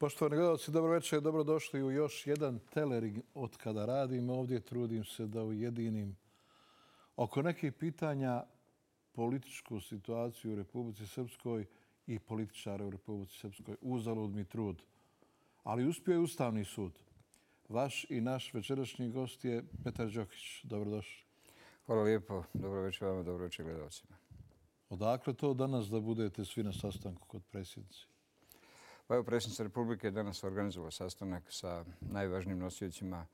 Poštovani gledalci, dobro večer, dobrodošli u još jedan telering od kada radim ovdje. Trudim se da ujedinim oko nekih pitanja političku situaciju u Republici Srpskoj i političare u Republici Srpskoj. Uzalud mi trud. Ali uspio je Ustavni sud. Vaš i naš večerašnji gost je Petar Đokić. Dobrodošli. Hvala lijepo. Dobro večer vama, dobro večer gledalcima. Odakle to danas da budete svi na sastanku kod predsjednice? Pa evo, predsjednica Republike je danas organizovala sastanak sa najvažnijim nosiocima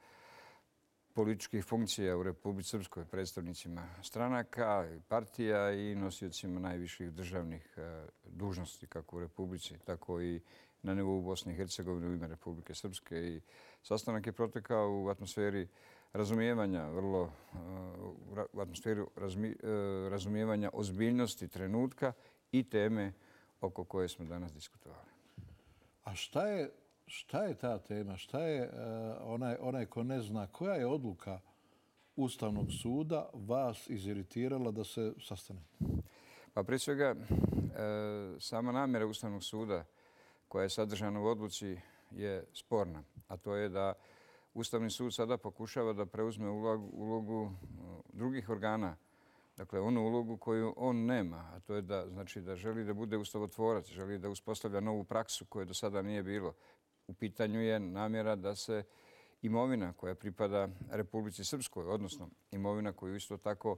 političkih funkcija u Republici Srpskoj, predstavnicima stranaka, partija i nosiocima najviših državnih dužnosti kako u Republici, tako i na nivou Bosne i Hercegovine u ime Republike Srpske. I sastanak je protekao u atmosferi razumijevanja, u atmosferi razumijevanja ozbiljnosti trenutka i teme oko koje smo danas diskutovali. A šta je ta tema? Šta je onaj ko ne zna koja je odluka Ustavnog suda vas iziritirala da se sastanete? Pa prije svega, sama namjera Ustavnog suda koja je sadržana u odluci je sporna. A to je da Ustavni sud sada pokušava da preuzme ulogu drugih organa. Dakle, onu ulogu koju on nema, a to je da želi da bude ustavotvorac, želi da uspostavlja novu praksu koje do sada nije bilo. U pitanju je namjera da se imovina koja pripada Republici Srpskoj, odnosno imovina koju isto tako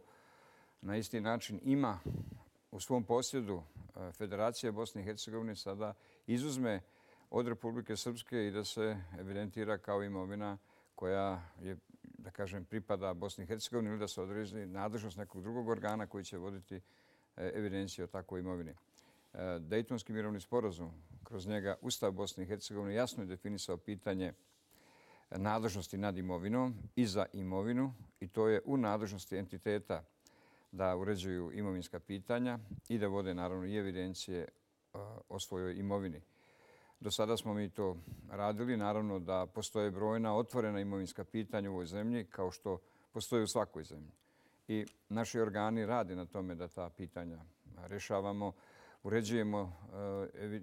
na isti način ima u svom posjedu Federacija Bosne i Hercegovine, sada izuzme od Republike Srpske i da se evidentira kao imovina koja je, da kažem, pripada Bosni i Hercegovini ili da se odredi nadležnost nekog drugog organa koji će voditi evidenciju o takvoj imovini. Dejtonski mirovni sporazum, kroz njega Ustav Bosne i Hercegovine jasno je definisao pitanje nadležnosti nad imovinom i za imovinu i to je u nadležnosti entiteta da uređuju imovinska pitanja i da vode naravno i evidencije o svojoj imovini. Do sada smo mi to radili. Naravno da postoje brojna otvorena imovinska pitanja u ovoj zemlji kao što postoje u svakoj zemlji. I naši organi rade na tome da ta pitanja rješavamo, uređujemo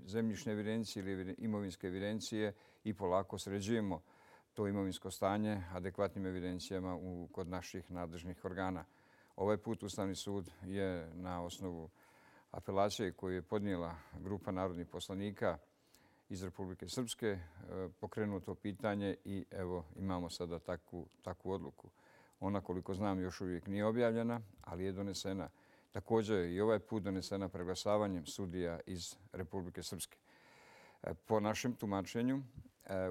zemljišne evidencije ili imovinske evidencije i polako sređujemo to imovinsko stanje adekvatnim evidencijama kod naših nadležnih organa. Ovaj put Ustavni sud je na osnovu apelacije koju je podnijela grupa narodnih poslanika iz Republike Srpske pokrenuo to pitanje i evo imamo sada takvu odluku. Ona, koliko znam, još uvijek nije objavljena, ali je donesena. Također je i ovaj put donesena preglasavanjem sudija iz Republike Srpske. Po našem tumačenju,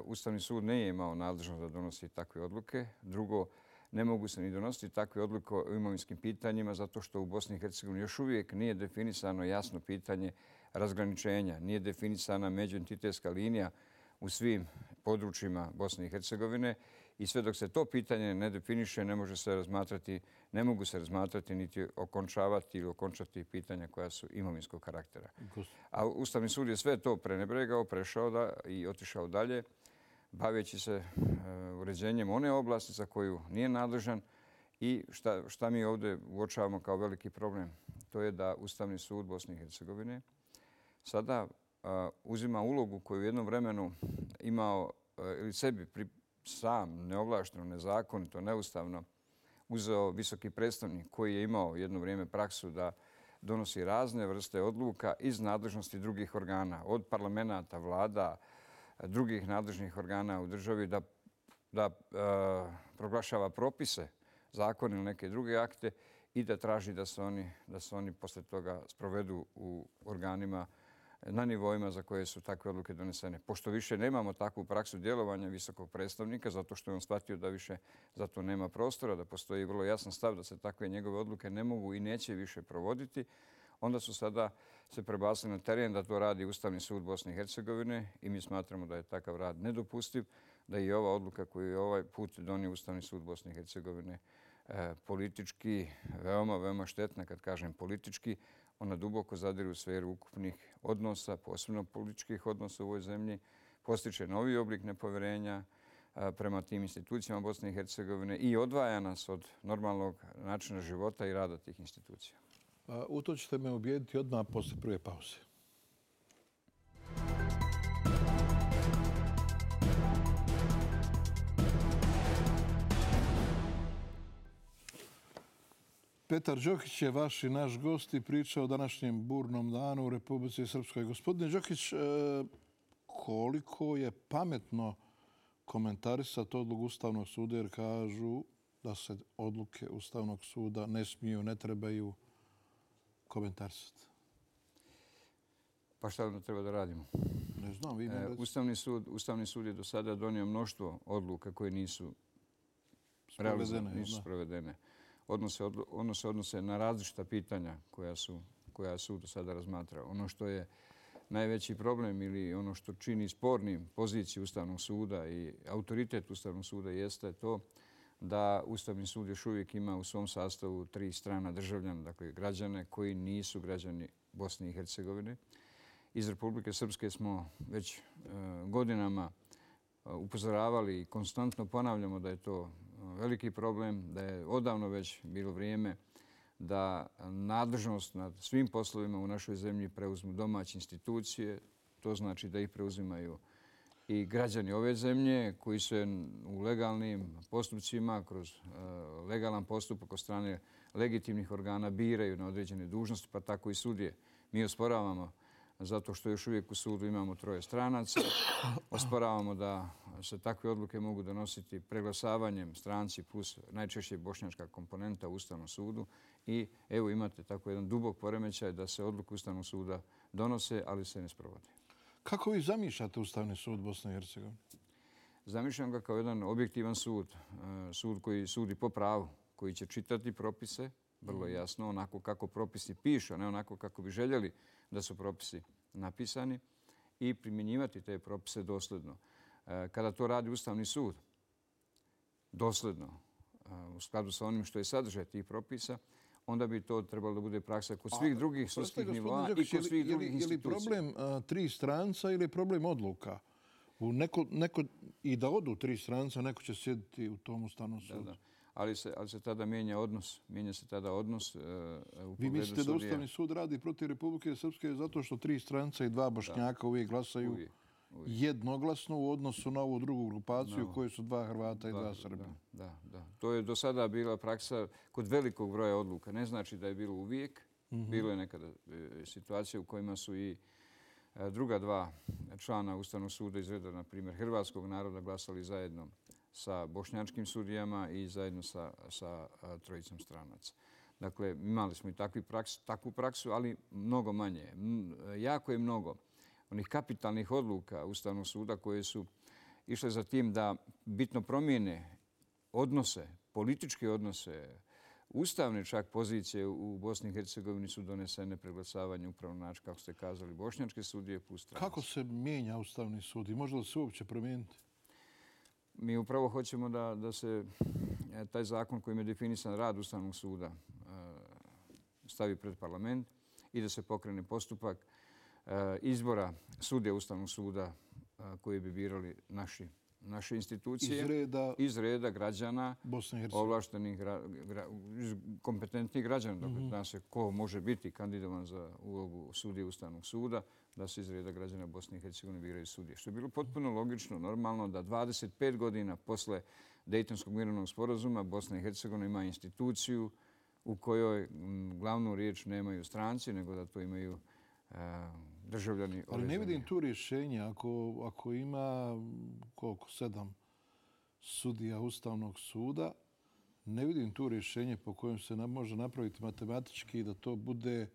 Ustavni sud nije imao nadležnost da donosi takve odluke. Drugo, ne mogu se ni donositi takve odluke o imovinskim pitanjima zato što u Bosni i Hercegovini još uvijek nije definisano jasno pitanje razgraničenja. Nije definisana međuentitetska linija u svim područjima Bosne i Hercegovine i sve dok se to pitanje ne definiše ne mogu se razmatrati niti okončavati ili okončati pitanja koja su imovinskog karaktera. A Ustavni sud je sve to prenebregao, prešao i otišao dalje, baveći se uređenjem one oblasti za koju nije nadležan i šta mi ovdje uočavamo kao veliki problem. To je da Ustavni sud Bosne i Hercegovine sada uzima ulogu koju u jednom vremenu imao ili sebi sam neovlašteno, nezakonito, neustavno uzeo visoki predstavnik koji je imao jedno vrijeme praksu da donosi razne vrste odluka iz nadležnosti drugih organa, od parlamenta, vlada, drugih nadležnih organa u državi da proglašava propise, zakone ili neke druge akte i da traži da se oni posle toga sprovedu u organima na nivoima za koje su takve odluke donesene. Pošto više nemamo takvu praksu djelovanja visokog predstavnika, zato što je on shvatio da više za to nema prostora, da postoji vrlo jasan stav da se takve njegove odluke ne mogu i neće više provoditi, onda su sada se prebacili na teren da to radi Ustavni sud Bosne i Hercegovine i mi smatramo da je takav rad nedopustiv, da je ova odluka koju je ovaj put donio Ustavni sud Bosne i Hercegovine politički veoma, veoma štetna. Kad kažem politički, ona duboko zadire u sferu ukupnih odnosa, posebno političkih odnosa u ovoj zemlji, postiče novi oblik nepovjerenja prema tim institucijama Bosne i Hercegovine i odvaja nas od normalnog načina života i rada tih institucija. U to ćete me ubijediti odmah posle prve pauze. Petar Đokić je vaš i naš gost i priča o današnjem burnom danu u Republici Srpskoj. Gospodine Đokić, koliko je pametno komentarisati odluku Ustavnog suda jer kažu da se odluke Ustavnog suda ne smiju, ne trebaju komentarisati? Pa šta onda treba da radimo? Ne znam, vi ne Ustavni sud je do sada donio mnoštvo odluka koje nisu sprovedene. Odnose na različita pitanja koja je sud do sada razmatrao. Ono što je najveći problem ili ono što čini spornim poziciju Ustavnog suda i autoritet Ustavnog suda jeste to da Ustavni sud još uvijek ima u svom sastavu 3 strana državljana, dakle građane koji nisu građani Bosne i Hercegovine. Iz Republike Srpske smo već godinama upozoravali i konstantno ponavljamo da je to veliki problem, da je odavno već bilo vrijeme da nadležnost nad svim poslovima u našoj zemlji preuzmu domaće institucije. To znači da ih preuzimaju i građani ove zemlje koji se u legalnim postupcima, kroz legalan postupak od strane legitimnih organa biraju na određene dužnosti, pa tako i sudije. Mi osporavamo zato što još uvijek u sudu imamo 3 stranaca. Osporavamo da se takve odluke mogu donositi preglasavanjem stranci plus najčešće bošnjačka komponenta u Ustavnom sudu. I evo imate tako jedan dubok poremećaj da se odluke Ustavnog suda donose, ali se ne sprovode. Kako vi zamišljate Ustavni sud Bosne i Hercegovine? Zamišljam ga kao jedan objektivan sud. Sud koji sudi po pravu, koji će čitati propise vrlo jasno, onako kako propisi pišu, a ne onako kako bi željeli da su propisi napisani i primjenjivati te propise dosledno. Kada to radi Ustavni sud dosledno, u skladu sa onim što je sadržaj tih propisa, onda bi to trebalo da bude praksa kod svih drugih sudskih nivoa i kod svih drugih institucija. Je li problem 3 stranca ili je problem odluka? I da odu 3 stranca, neko će sjediti u tom Ustavnom sudu. Da. Ali se tada mijenja odnos. Mijenja se tada odnos u pogledu Vi mislite da sudija. Ustavni sud radi protiv Republike Srpske zato što 3 stranca i 2 Bošnjaka uvijek glasaju Uvijek. jednoglasno u odnosu na ovu drugu grupaciju koju su 2 Hrvata i 2 Srbina? Da. To je do sada bila praksa kod velikog broja odluka. Ne znači da je bilo uvijek. Bilo je nekada situacije u kojima su i druga 2 člana Ustavnog suda iz reda, na primjer, hrvatskog naroda glasali zajedno sa bošnjačkim sudijama i zajedno sa 3 stranaca. Dakle, imali smo i takvu praksu, ali mnogo manje. Jako je mnogo onih kapitalnih odluka Ustavnog suda koje su išle za tim da bitno promijene odnose, političke odnose, ustavne čak pozicije u Bosni i Hercegovini su donesene preglasavanjem upravo na način, kako ste kazali, bošnjačke sudije plus stranaca. Kako se mijenja Ustavni sud i može li se uopće promijeniti? Mi upravo hoćemo da se taj zakon kojim je definisan rad Ustavnog suda stavi pred parlament i da se pokrene postupak izbora sudija Ustavnog suda koji bi birali naše institucije. Iz reda građana, ovlaštenih, kompetentnih građana. Dakle, zna se ko može biti kandidovan za ulogu sudije Ustavnog suda, da se iz reda građana Bosne i Hercegovine biraju sudije. Što je bilo potpuno logično, normalno da 25 godina posle Dejtonskog mirovnog sporazuma Bosna i Hercegovina ima instituciju u kojoj glavnu riječ nemaju stranci, nego da to imaju državljani ove zemlje. Ali ne vidim tu rješenje. Ako ima 7 sudija Ustavnog suda, ne vidim tu rješenje po kojem se može napraviti matematički da to bude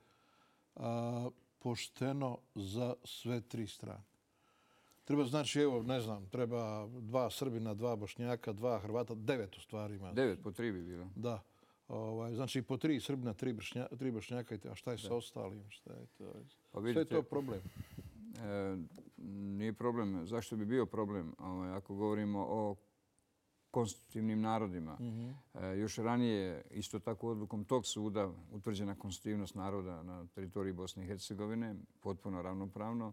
pošteno za sve 3 strane. Treba, znači, evo, ne znam, treba 2 Srbina, 2 Bošnjaka, 2 Hrvata, 9 u stvari ima. 9 po 3 bi bilo. Da. Znači, po 3 Srbina, 3 Bošnjaka. A šta je sa ostalim? Sve je to problem. Nije problem. Zašto bi bio problem? Ako govorimo o konstitutivnim narodima. Još ranije, isto tako odlukom tog suda, utvrđena konstitutivnost naroda na teritoriji Bosne i Hercegovine, potpuno ravnopravno,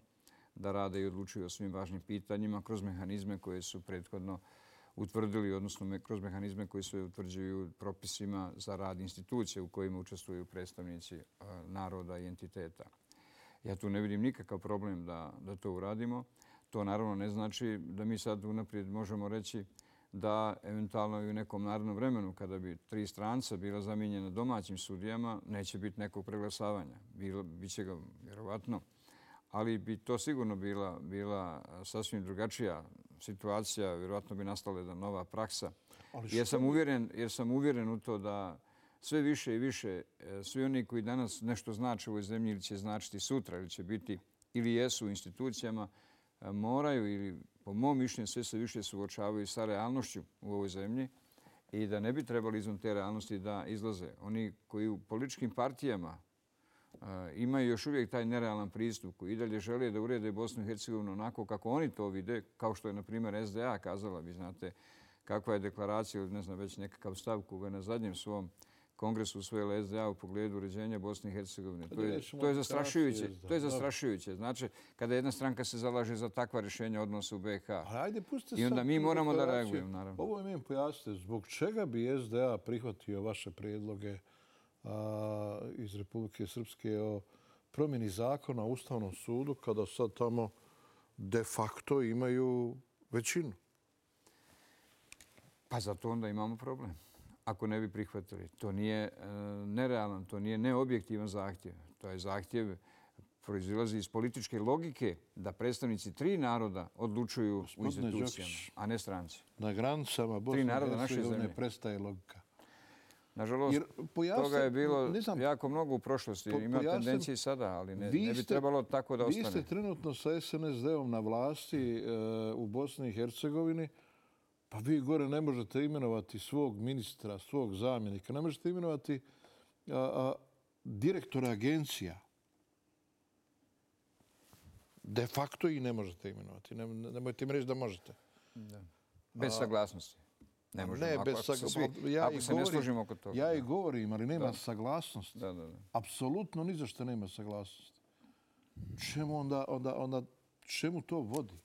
da rade i odlučuju o svim važnim pitanjima kroz mehanizme koje su prethodno utvrdili, odnosno kroz mehanizme koji se utvrđuju propisima za rad institucije u kojima učestvuju predstavnici naroda i entiteta. Ja tu ne vidim nikakav problem da to uradimo. To naravno ne znači da mi sad unaprijed možemo reći da eventualno i u nekom narednom vremenu, kada bi 3 stranca bila zamijenjena domaćim sudijama, neće biti nekog preglasavanja. Biće ga vjerovatno, ali bi to sigurno bila sasvim drugačija situacija. Vjerovatno bi nastala jedna nova praksa. Jer sam uvjeren u to da sve više i više svi oni koji danas nešto znače u ovoj zemlji ili će značiti sutra ili će biti ili jesu u institucijama, moraju ili po mom mišljenju sve se više suočavaju sa realnošću u ovoj zemlji i da ne bi trebali izvan te realnosti da izlaze. Oni koji u političkim partijama imaju još uvijek taj nerealan pristup, koji i dalje žele da urede Bosnu i Hercegovinu onako kako oni to vide, kao što je na primjer SDA kazala, vi znate kakva je deklaracija ili ne znam već nekakav stav koga je na zadnjem svom kongresu usvojila SDA u pogledu uređenja Bosne i Hercegovine. To je zastrašujuće. To je zastrašujuće. Znači, kada jedna stranka se zalaže za takva rješenja odnosa u BiH. I onda mi moramo da reagujemo, naravno. Ovo mi pojasnite, zbog čega bi SDA prihvatio vaše prijedloge iz Republike Srpske o promjeni zakona o Ustavnom sudu kada sad tamo de facto imaju većinu? Pa zato onda imamo problem. Ako ne bi prihvatili. To nije nerealan, to nije neobjektivan zahtjev. To je zahtjev proizilazi iz političke logike da predstavnici 3 naroda odlučuju u institucijama, a ne stranci. Na granicama Bosne i Hercegovine prestaje logika. Nažalost, toga je bilo jako mnogo u prošlosti. Ima tendencije i sada, ali ne bi trebalo tako da ostane. Vi ste trenutno sa SNSD-om na vlasti u Bosni i Hercegovini. Pa vi gore ne možete imenovati svog ministra, svog zamjenika. Ne možete imenovati direktora agencija. De facto i ne možete imenovati. Nemojte mi reći da možete. Bez saglasnosti. Ne možemo. Ne, bez saglasnosti. Ako se ne složimo oko toga. Ja i govorim, ali nema saglasnosti. Apsolutno ni za što nema saglasnosti. Čemu to vodi?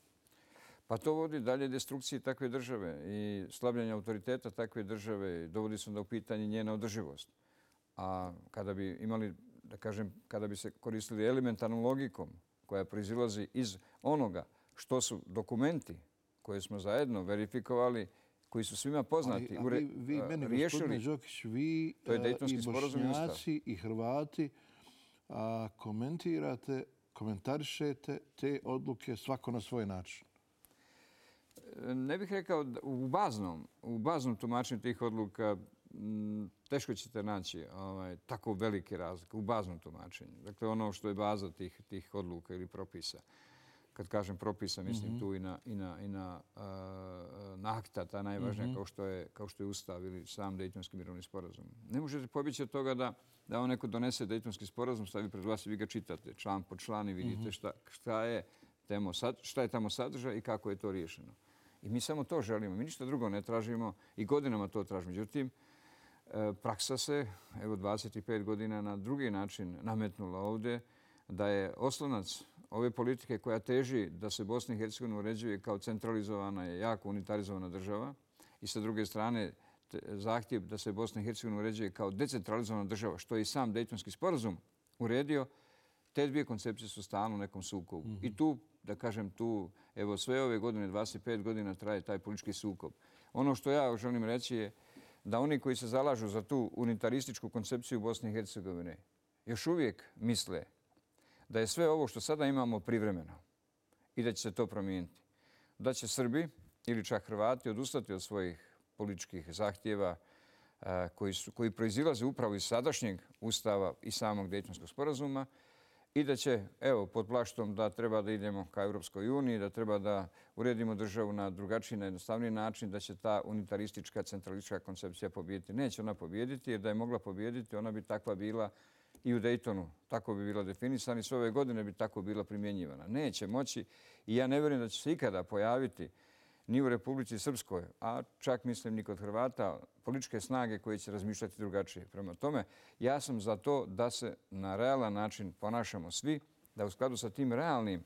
Pa to vodi dalje destrukciji takve države i slabljenja autoriteta takve države. Dovodi se onda u pitanje njena održivost. A kada bi imali, da kažem, kada bi se koristili elementarnom logikom koja proizilazi iz onoga što su dokumenti koje smo zajedno verifikovali, koji su svima poznati, vi meni, gospodine Đokić, vi i Bošnjaci i Hrvati komentarišete te odluke svako na svoj način. Ne bih rekao u baznom tumačenju tih odluka teško ćete naći tako velike razlike u baznom tumačenju. Dakle, ono što je baza tih odluka ili propisa. Kad kažem propisa, mislim tu i na akta, ta najvažnija kao što je Ustav ili sam Dejtonski mirovni sporazum. Ne možete pobjeći od toga da on neko donese Dejtonski sporazum, stavi pred vas i vi ga čitate član po član i vidite šta je tamo sadržaj i kako je to riješeno. I mi samo to želimo. Mi ništa drugo ne tražimo i godinama to tražimo. Međutim, praksa se, evo 25 godina na drugi način nametnula ovdje, da je oslonac ove politike koja teži da se Bosna i Hercegovina uređuje kao centralizovana i jako unitarizovana država i sa druge strane zahtjev da se Bosna i Hercegovina uređuje kao decentralizovana država, što je i sam Dejtonski sporazum uredio, te dvije koncepcije su stalno u nekom sukobu. I tu, da kažem, evo sve ove godine, 25 godina traje taj politički sukob. Ono što ja želim reći je da oni koji se zalažu za tu unitarističku koncepciju Bosne i Hercegovine još uvijek misle da je sve ovo što sada imamo privremeno i da će se to promijeniti. Da će Srbi ili čak Hrvati odustati od svojih političkih zahtjeva koji proizilaze upravo iz sadašnjeg Ustava i samog Dejtonskog sporazuma i da će, evo, pod plaštom da treba da idemo ka Europskoj uniji, da treba da uredimo državu na drugačiji, na jednostavniji način, da će ta unitaristička, centralistička koncepcija pobijediti. Neće ona pobijediti, jer da je mogla pobijediti, ona bi takva bila i u Dejtonu. Tako bi bila definisana i sve ove godine bi tako bila primjenjivana. Neće moći i ja ne vjerujem da će se ikada pojaviti ni u Republici Srpskoj, a čak mislim ni kod Hrvata, političke snage koje će razmišljati drugačije. Prema tome, ja sam za to da se na realan način ponašamo svi, da u skladu sa tim realnim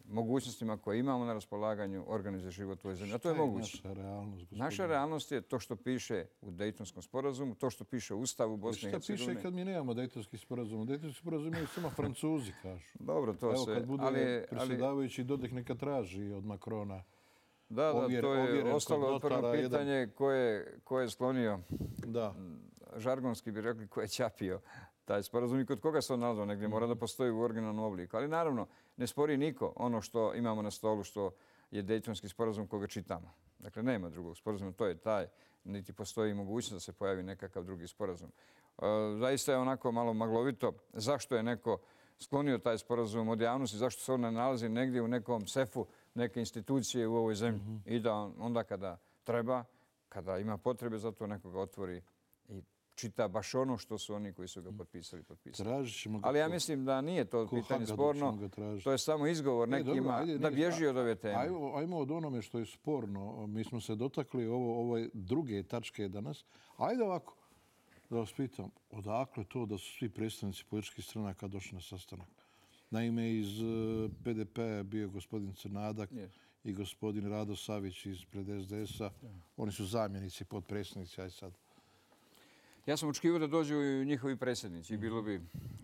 mogućnostima koje imamo na raspolaganju organizuje život u ovoj zemlji. A to je moguće. Naša realnost, gospodine? Naša realnost je to što piše u Dejtonskom sporazumu, to što piše u Ustavu Bosne i Hercegovine. Šta piše kad mi nemamo Dejtonski sporazum? Dejtonski sporazum imaju samo Francuzi, kažu. Dobro, to se... Evo, kad bude predsjedavajući Dodik neka traži od Makrona Da, to je ovjeren ostalo kod otvoreno notara, pitanje ko je sklonio, Da. žargonski bi rekli, ko je ćapio taj sporazum i kod koga se on nalazio negdje. Mora da postoji u originalnom obliku. Ali naravno, ne spori niko ono što imamo na stolu, što je Dejtonski sporazum koga čitamo. Dakle, nema drugog sporazuma, to je taj. Niti postoji mogućnost da se pojavi nekakav drugi sporazum. Zaista je onako malo maglovito zašto je neko sklonio taj sporazum od javnosti, zašto se on ne nalazi negdje u nekom sefu neke institucije u ovoj zemlji. I da onda kada treba, kada ima potrebe za to, nekoga otvori i čita baš ono što su oni koji su ga potpisali. Ali ja mislim da nije to pitanje sporno. To je samo izgovor nekima da bježi od ove teme. Ajmo od onome što je sporno. Mi smo se dotakli ove druge tačke danas. Ajde ovako, da vas pitam, odakle to da su svi predstavnici političkih stranaka došli na sastanak? Naime, iz PDP je bio gospodin Crnadak i gospodin Rado Savić ispred SDS-a. Oni su zamjenici, potpredsjednici, aj sad. Ja sam očekivao da dođu i njihovi predsjednici i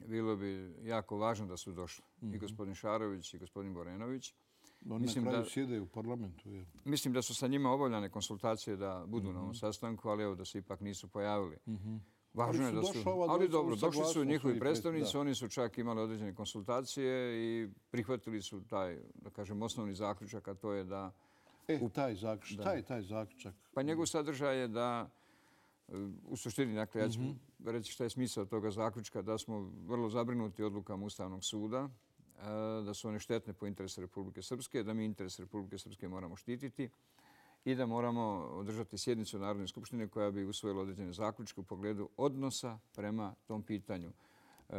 bilo bi jako važno da su došli. I gospodin Šarović i gospodin Borenović. Oni na kraju sjede u parlamentu. Mislim da su sa njima obavljane konsultacije da budu na ovom sastanku, ali evo da se ipak nisu pojavili. Važno je da su... Ali dobro, došli su njihovi predstavnici, oni su čak imali određene konsultacije i prihvatili su taj, da kažem, osnovni zaključak, a to je da... taj zaključak. Šta je taj zaključak? Pa njegov sadržaj je da, u suštini, dakle, ja ću reći šta je smisao toga zaključka, da smo vrlo zabrinuti odlukama Ustavnog suda, da su one štetne po interesu Republike Srpske, da mi interes Republike Srpske moramo štititi i da moramo održati sjednicu Narodne skupštine koja bi usvojila određene zaključke u pogledu odnosa prema tom pitanju.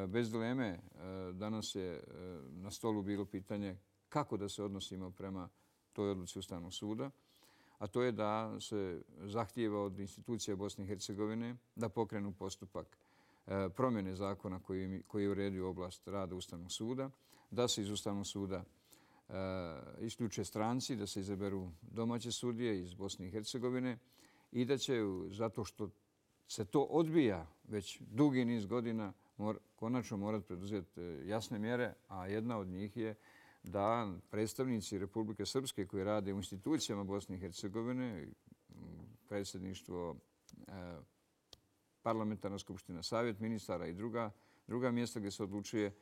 Bez dileme, danas je na stolu bilo pitanje kako da se odnosimo prema toj odluci Ustavnog suda, a to je da se zahtijeva od institucija Bosne i Hercegovine da pokrenu postupak promjene zakona koji je uredio oblast rada Ustavnog suda, da se iz Ustavnog suda isključe stranci, da se izaberu domaće sudije iz Bosne i Hercegovine i da će, zato što se to odbija već dugi niz godina, konačno morati preduzeti jasne mjere, a jedna od njih je da predstavnici Republike Srpske koji rade u institucijama Bosne i Hercegovine, predsjedništvo, parlamentarna skupština, savjet ministara i druga mjesta gdje se odlučuje,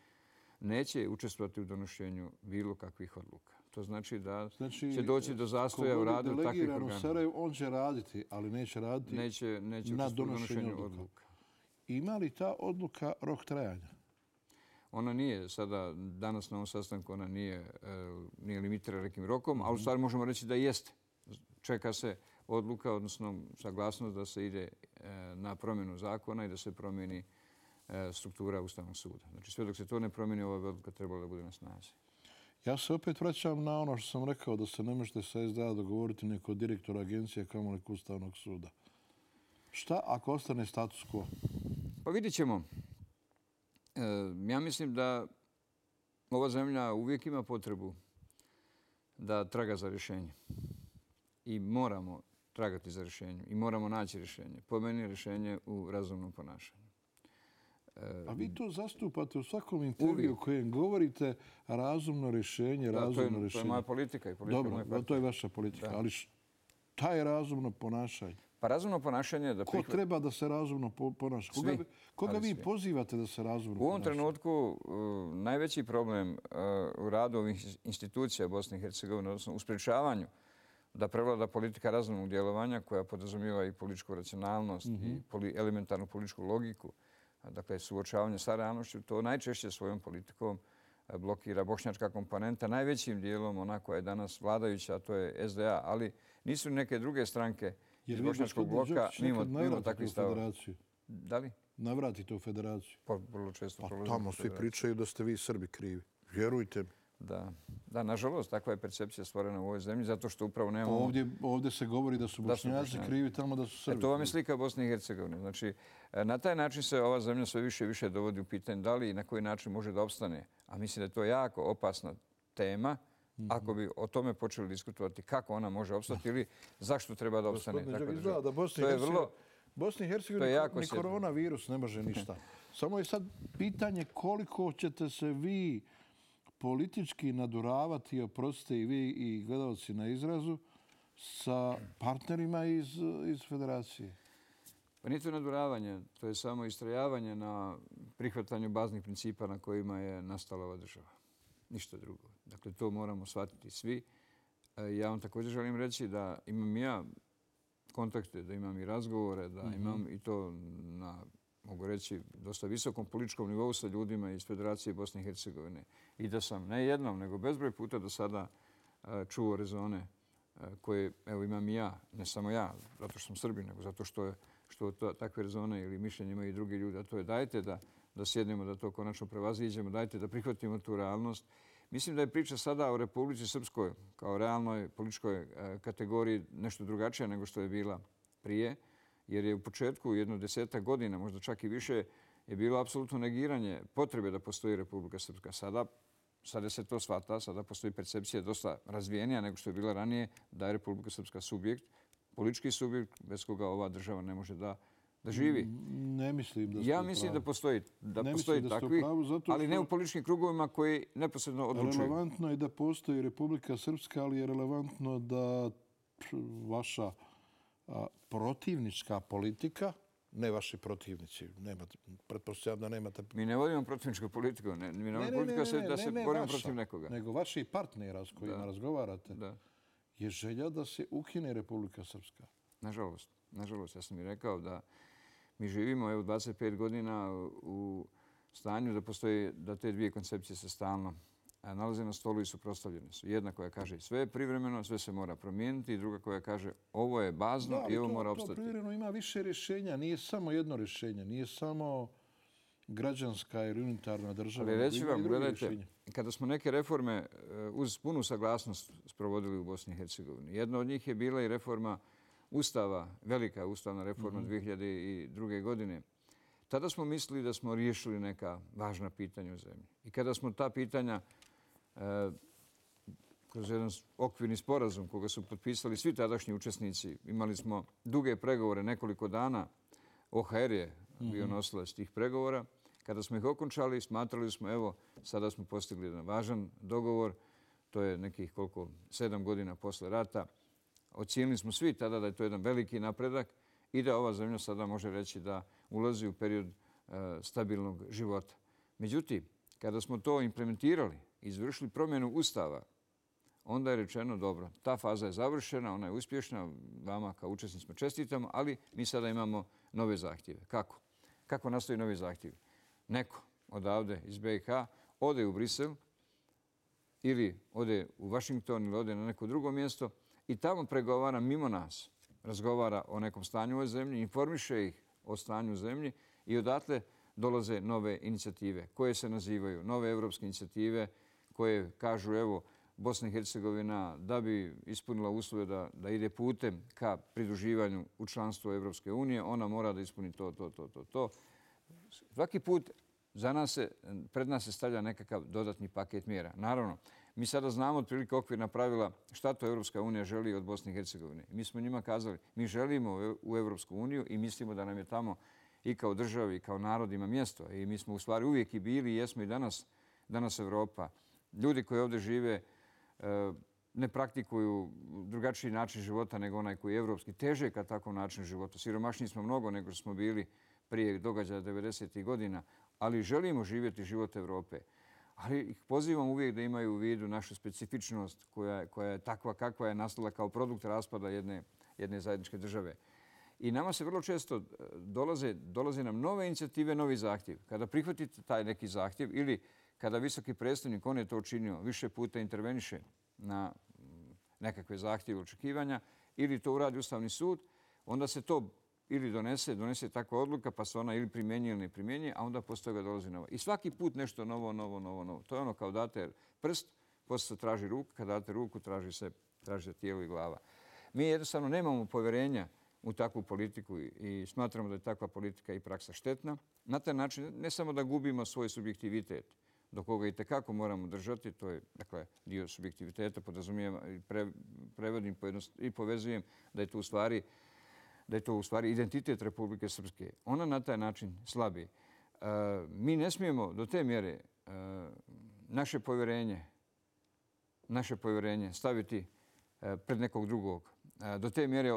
neće učestvovati u donošenju bilo kakvih odluka. To znači da će doći do zastoja u radu takvih organa. On će raditi, ali neće raditi na donošenju odluka. Ima li ta odluka rok trajanja? Ona nije sada, danas na ovom sastanku, ona nije limitirana nekim rokom, ali u stvari možemo reći da jeste. Čeka se odluka, odnosno saglasnost da se ide na promjenu zakona i da se promijeni struktura Ustavnog suda. Znači sve dok se to ne promijeni, ova odluka trebala da bude na snazi. Ja se opet vraćam na ono što sam rekao, da se ne možete sa SDA dogovoriti neko direktor agencije kamoli Ustavnog suda. Šta ako ostane status quo? Pa vidit ćemo. Ja mislim da ova zemlja uvijek ima potrebu da traga za rješenje. I moramo tragati za rješenje. I moramo naći rješenje. Po meni je rješenje u razumnom ponašanju. A vi to zastupate u svakom intervju u kojem govorite razumno rješenje, razumno rješenje. To je moja politika i politika moje partije. Dobro, to je vaša politika. Ali šta je razumno ponašanje? Pa razumno ponašanje je da... Ko treba da se razumno ponaša? Koga vi pozivate da se razumno ponaša? U ovom trenutku najveći problem u radu ovih institucija Bosne i Hercegovine, odnosno u sprječavanju da prevlada politika razumnog djelovanja koja podrazumijeva i političku racionalnost i elementarnu političku logiku, dakle suočavanje sa realnošću, to najčešće svojom politikom blokira bošnjačka komponenta, najvećim dijelom ona koja je danas vladajuća, a to je SDA, ali nisu neke druge stranke iz bošnjačkog bloka mimo takvih stavova. Da li? Navratite u federaciju. Pa vrlo često prolazimo u federaciju. Tamo svi pričaju da ste vi Srbi krivi. Vjerujte mi. Da, nažalost, takva je percepcija stvorena u ovoj zemlji, zato što upravo nemamo... Ovdje se govori da su Bošnjaci krivi, tamo da su Srbi. To vam je slika Bosne i Hercegovine. Znači, na taj način se ova zemlja sve više i više dovodi u pitanje da li i na koji način može da opstane. A mislim da je to jako opasna tema ako bi o tome počeli diskutovati kako ona može opstati ili zašto treba da opstane. Bosni i Hercegovini ni koronavirus ne može ništa. Samo je sad pitanje koliko ćete se vi politički naduravati, oprostite i vi i gledalci na izrazu, sa partnerima iz federacije? Pa nije to nadvoravanje, to je samo istrajavanje na prihvatanju baznih principa na kojima je nastala ova država. Ništa drugo. Dakle, to moramo shvatiti svi. Ja vam također želim reći da imam ja kontakte, da imam i razgovore, da imam i to na, mogu reći, dosta visokom političkom nivou sa ljudima iz Federacije Bosne i Hercegovine. I da sam ne jednom, nego bezbroj puta do sada čuo rezone koje, evo, imam i ja, ne samo ja, zato što sam Srbin, nego zato što takve rezone ili mišljenje imaju i drugi ljudi. A to je dajte da sjednemo, da to konačno prevaziđemo, dajte da prihvatimo tu realnost. Mislim da je priča sada o Republici Srpskoj kao realnoj političkoj kategoriji nešto drugačija nego što je bila prije, jer je u početku jedno 10 godina, možda čak i više, je bilo apsolutno negiranje potrebe da postoji Republika Srpska. Sada se to shvata, sada postoji percepcija dosta razvijenija nego što je bila ranije da je Republika Srpska subjekt, politički subjekt bez koga ova država ne može da živi. Ne mislim da ste Ja mislim da postoji takvi, ali ne u političkim krugovima koji neposredno odlučuju. Relevantno je da postoji Republika Srpska, ali je relevantno da vaša protivnička politika, ne vaši protivnici, pretpostavljam da nemate... Mi ne vodimo protivničku politiku, mi ne vodimo politiku da se borimo protiv nekoga. Nego vaši partnera s kojima razgovarate je želja da se ukine Republika Srpska. Nažalost, ja sam i rekao da mi živimo 25 godina u stanju da te dvije koncepcije se stalno nalaze na stolu i suprotstavljene su. Jedna koja kaže sve je privremeno, sve se mora promijeniti i druga koja kaže ovo je bazno i ovo mora opstati. To privremeno ima više rješenja, nije samo jedno rješenje, nije samo građanska ili unitarna država. Ali reći vam, gledajte, kada smo neke reforme uz punu saglasnost sprovodili u Bosni i Hercegovini, jedna od njih je bila i reforma Ustava, velika ustavna reforma 2002. godine. Tada smo mislili da smo riješili neka važna pitanja u zemlji. I kada smo ta pitanja kroz jedan okvirni sporazum koga su potpisali svi tadašnji učesnici, imali smo duge pregovore, nekoliko dana, OHR je bio nosilac tih pregovora. Kada smo ih okončali, smatrali smo, evo, sada smo postigli jedan važan dogovor, to je nekih 7 godina posle rata. Ocijenili smo svi tada da je to jedan veliki napredak i da ova zemlja sada može reći da ulazi u period stabilnog života. Međutim, kada smo to implementirali i izvršili promjenu Ustava, onda je rečeno dobro, ta faza je završena, ona je uspješna, vama kao učesnicima čestitamo, ali mi sada imamo nove zahtjeve. Kako? Kako nastaju novi zahtjevi? Neko odavde iz BiH ode u Brisel ili ode u Washington ili ode na neko drugo mjesto i tamo pregovara mimo nas. Razgovara o nekom stanju u ovoj zemlji, informiše ih o stanju u zemlji i odatle dolaze nove inicijative koje se nazivaju nove evropske inicijative koje kažu evo Bosna i Hercegovina da bi ispunila uslove da ide putem ka pridruživanju u članstvo Evropske unije, ona mora da ispuni to. Svaki put pred nas se stavlja nekakav dodatni paket mjera. Naravno, mi sada znamo otprilike okvirna pravila šta to Evropska unija želi od Bosne i Hercegovine. Mi smo njima kazali, mi želimo u Evropsku uniju i mislimo da nam je tamo i kao državi i kao narod ima mjesto. I mi smo u stvari uvijek i bili i jesmo i danas Evropa. Ljudi koji ovdje žive ne praktikuju drugačiji način života nego onaj koji je evropski. Teže ka takvom načinu života. Siromašniji smo mnogo nego što smo bili prije događaja 90. godina, ali želimo živjeti život Evrope. Ali ih pozivam uvijek da imaju u vidu našu specifičnost koja je takva kakva je nastala kao produkt raspada jedne zajedničke države. I nama se vrlo često dolaze nam nove inicijative, novi zahtjev. Kada prihvatite taj neki zahtjev ili kada visoki predstavnik, on je to učinio, više puta interveniše na nekakve zahtjeve očekivanja ili to uradi Ustavni sud, onda se to ili donese takva odluka pa se ona ili primjenjuje ili ne primjenjuje, a onda posle toga dolazi novo. I svaki put nešto novo. To je ono kao date prst, posle se traži ruka, kada date ruku traži se tijelo i glava. Mi jednostavno nemamo povjerenja u takvu politiku i smatramo da je takva politika i praksa štetna. Na taj način ne samo da gubimo svoj subjektivitet, do koga i tekako moramo držati, to je dio subjektiviteta, podrazumijem i prevodim i povezujem da je to u stvari identitet Republike Srpske. Ona na taj način slabi. Mi ne smijemo do te mjere naše povjerenje staviti pred nekog drugog. do te mjere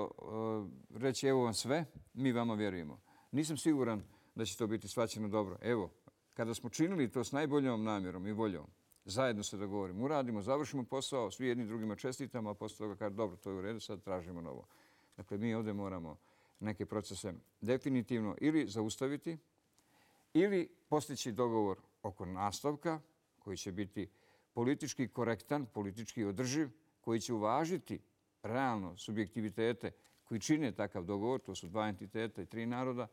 reći evo vam sve, mi vama vjerujemo. Nisam siguran da će to biti shvaćeno dobro. Evo, kada smo činili to s najboljom namjerom i voljom, zajedno se dogovorimo, uradimo, završimo posao, svi jedni drugima čestitamo, a poslije toga kaže dobro, to je u redu, sad tražimo novo. Dakle, mi ovdje moramo neke procese definitivno ili zaustaviti ili postići dogovor oko nastavka koji će biti politički korektan, politički održiv, koji će uvažiti realno subjektivitete koji čine takav dogovor, to su 2 entiteta i 3 naroda,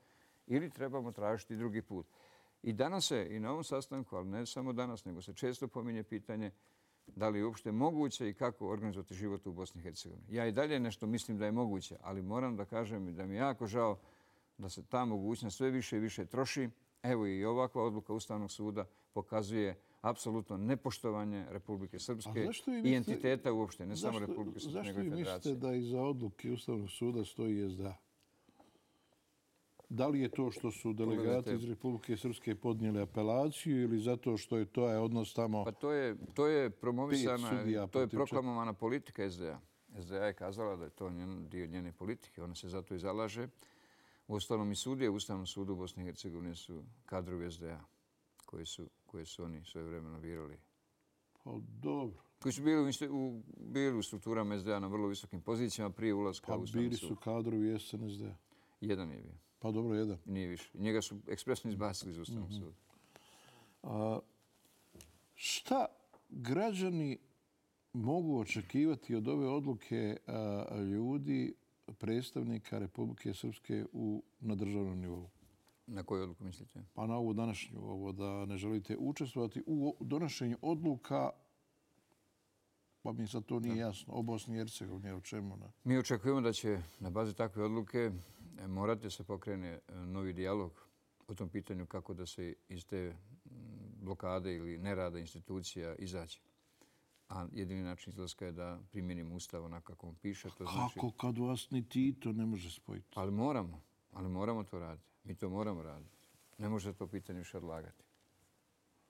ili trebamo tražiti drugi put. I danas se, i na ovom sastanku, ali ne samo danas, nego se često pominje pitanje da li je uopšte moguće i kako organizovati život u Bosni i Hercegovini. Ja i dalje nešto mislim da je moguće, ali moram da kažem da mi je jako žao da se ta mogućnost sve više i više troši. Evo i ovakva odluka Ustavnog suda pokazuje apsolutno nepoštovanje Republike Srpske i entiteta uopšte, ne samo Republike Srpske, nego i Federacije. Zašto vi mislite da iza odluke Ustavnog suda stoji SDA? Da li je to što su delegati iz Republike Srpske podnijeli apelaciju ili zato što je to odnos tamo... Pa to je promovisana, to je proklamovana politika SDA. SDA je kazala da je to dio njene politike, ona se zato i zalaže. U Ustavnom i sudije, u Ustavnom sudu u Bosni i Hercegovini su kadrovi SDA koje su oni svojevremeno birali. Pa dobro. Koji su bili u strukturama SDA na vrlo visokim pozicijama prije ulaska u Ustavni sud. Pa bili su kadrovi SNSD. Jedan je bio. Pa dobro, jedan. Nije više. Njega su ekspresno izbacili iz Ustavnog suda. Šta građani mogu očekivati od ove odluke ljudi, predstavnika Republike Srpske na državnom nivou? Na koju odluku mislite? Pa na ovu današnju, ovo da ne želite učestvovati u donošenju odluka, pa mi sad to nije jasno, o Bosni i Hercegovini, o čemu? Mi očekujemo da će na bazi takve odluke morati se pokrene novi dijalog o tom pitanju kako da se iz te blokade ili nerada institucija izađe. A jedini način izlaska je da primjenimo Ustav onako kako on piše. Kako kad vas ni Tito ne može spojiti? Ali moramo to raditi. Mi to moramo raditi. Ne može to pitanje više odlagati.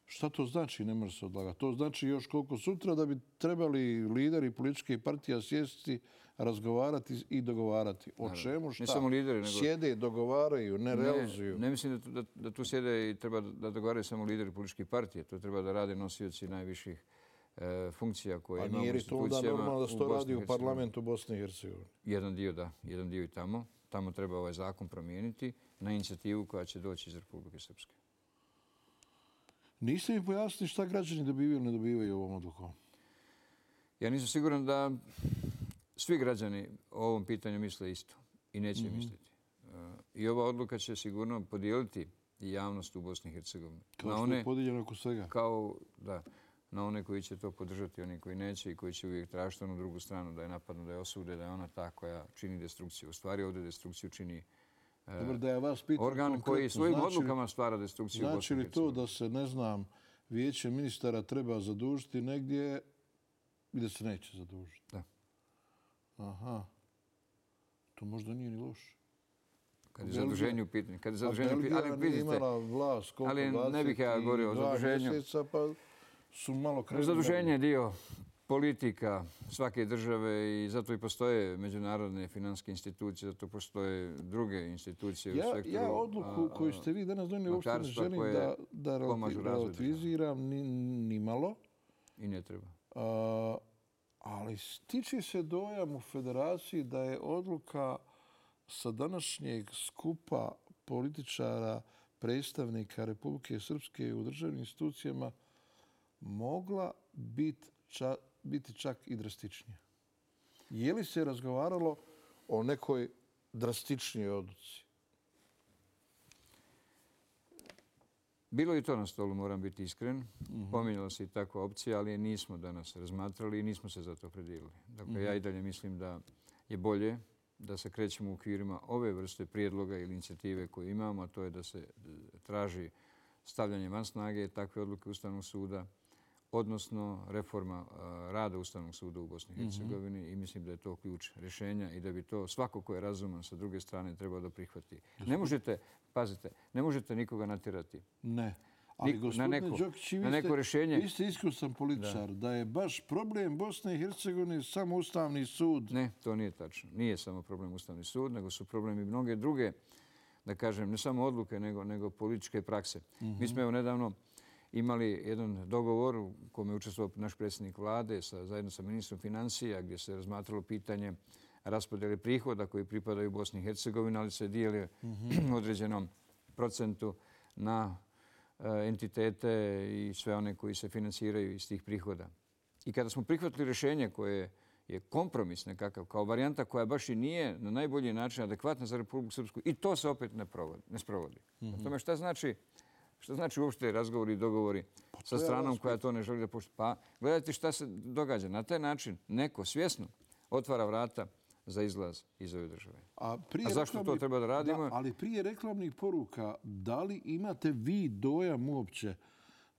Šta to znači ne može se odlagati? To znači još koliko sutra da bi trebali lideri političkih partija sjesti, razgovarati i dogovarati. O čemu šta? Ne samo lideri, nego... Sjede, dogovaraju, ne realizuju. Ne mislim da tu sjede i treba da dogovaraju samo lideri političkih partija. To treba da rade nosioci najviših funkcija koje imamo u institucijama. A nije li to onda normalno da se to radi u parlamentu Bosne i Hercegovine? Jedan dio da, jedan dio i tamo. Tamo treba ovaj zakon promijeniti na inicijativu koja će doći iz Republike Srpske. Niste mi pojasnili šta građani dobivaju ili ne dobivaju ovom odlukom? Ja nisam siguran da svi građani o ovom pitanju misle isto i neće misliti. I ova odluka će sigurno podijeliti javnost u Bosni i Hercegovini. Kao što je podijeljeno oko svega. Na one koji će to podržati, oni koji neće i koji će uvijek tražiti onu drugu stranu da je napadnu, da je osude, da je ona ta koja čini destrukciju. U stvari ovdje destrukciju čini organ koji svojim odlukama stvara destrukciju u Bosni i Hercegovini. Znači li to da se, ne znam, vijeće ministara treba zadužiti negdje i da se neće zadužiti? Da. Aha. To možda nije ni loše. Kad je zaduženje u pitanju. Ali imala vlast, ali ne bih ja govorio o zaduženju. Mjeseca, pa su malo krenuli. Zaduženje je dio politika svake države i zato i postoje međunarodne financijske institucije, zato postoje druge institucije u sektoru. Ja odluku koju ste vi danas donijeli uopšte ne želim da relativiziram ni malo. I ne treba. Ali stiče se dojam u Federaciji da je odluka sa današnjeg skupa političara, predstavnika Republike Srpske u državnim institucijama mogla biti čak i drastičnija. Je li se razgovaralo o nekoj drastičnijoj odluci? Bilo je i to na stolu, moram biti iskren. Pominjala se i takva opcija, ali je nismo danas razmatrali i nismo se za to opredijelili. Dakle, ja i dalje mislim da je bolje da se krećemo u okvirima ove vrste prijedloga ili inicijative koje imamo, a to je da se traži stavljanje van snage takve odluke Ustavnog suda, odnosno reforma rada Ustavnog suda u Bosni i Hercegovini i mislim da je to ključ rješenja i da bi to svako ko je razuman sa druge strane trebao da prihvati. Ne možete, pazite, ne možete nikoga natjerati. Ne. Ali gospodine Đokić, na neko rješenje. Vi ste iskusan političar, da je baš problem Bosne i Hercegovine samo Ustavni sud. Ne, to nije tačno. Nije samo problem Ustavni sud, nego su problemi mnoge druge, da kažem, ne samo odluke, nego političke prakse. Mi smo evo nedavno imali jedan dogovor u kome je učestvovao naš predsjednik vlade zajedno sa ministrom financija, gdje se razmatralo pitanje raspodjele prihoda koji pripadaju Bosni i Hercegovini, ali se dijeli u određenom procentu na entitete i sve one koji se financiraju iz tih prihoda. I kada smo prihvatili rješenje koje je kompromis nekakav, kao varijanta koja baš i nije na najbolji način adekvatna za Republiku Srpsku, i to se opet ne sprovodi. O tome šta znači uopšte razgovori i dogovori sa stranom koja to ne želi da poštuje? Pa gledajte šta se događa. Na taj način neko svjesno otvara vrata za izlaz iz ove države. A zašto to treba da radimo? Ali prije reklamnih poruka, da li imate vi dojam uopće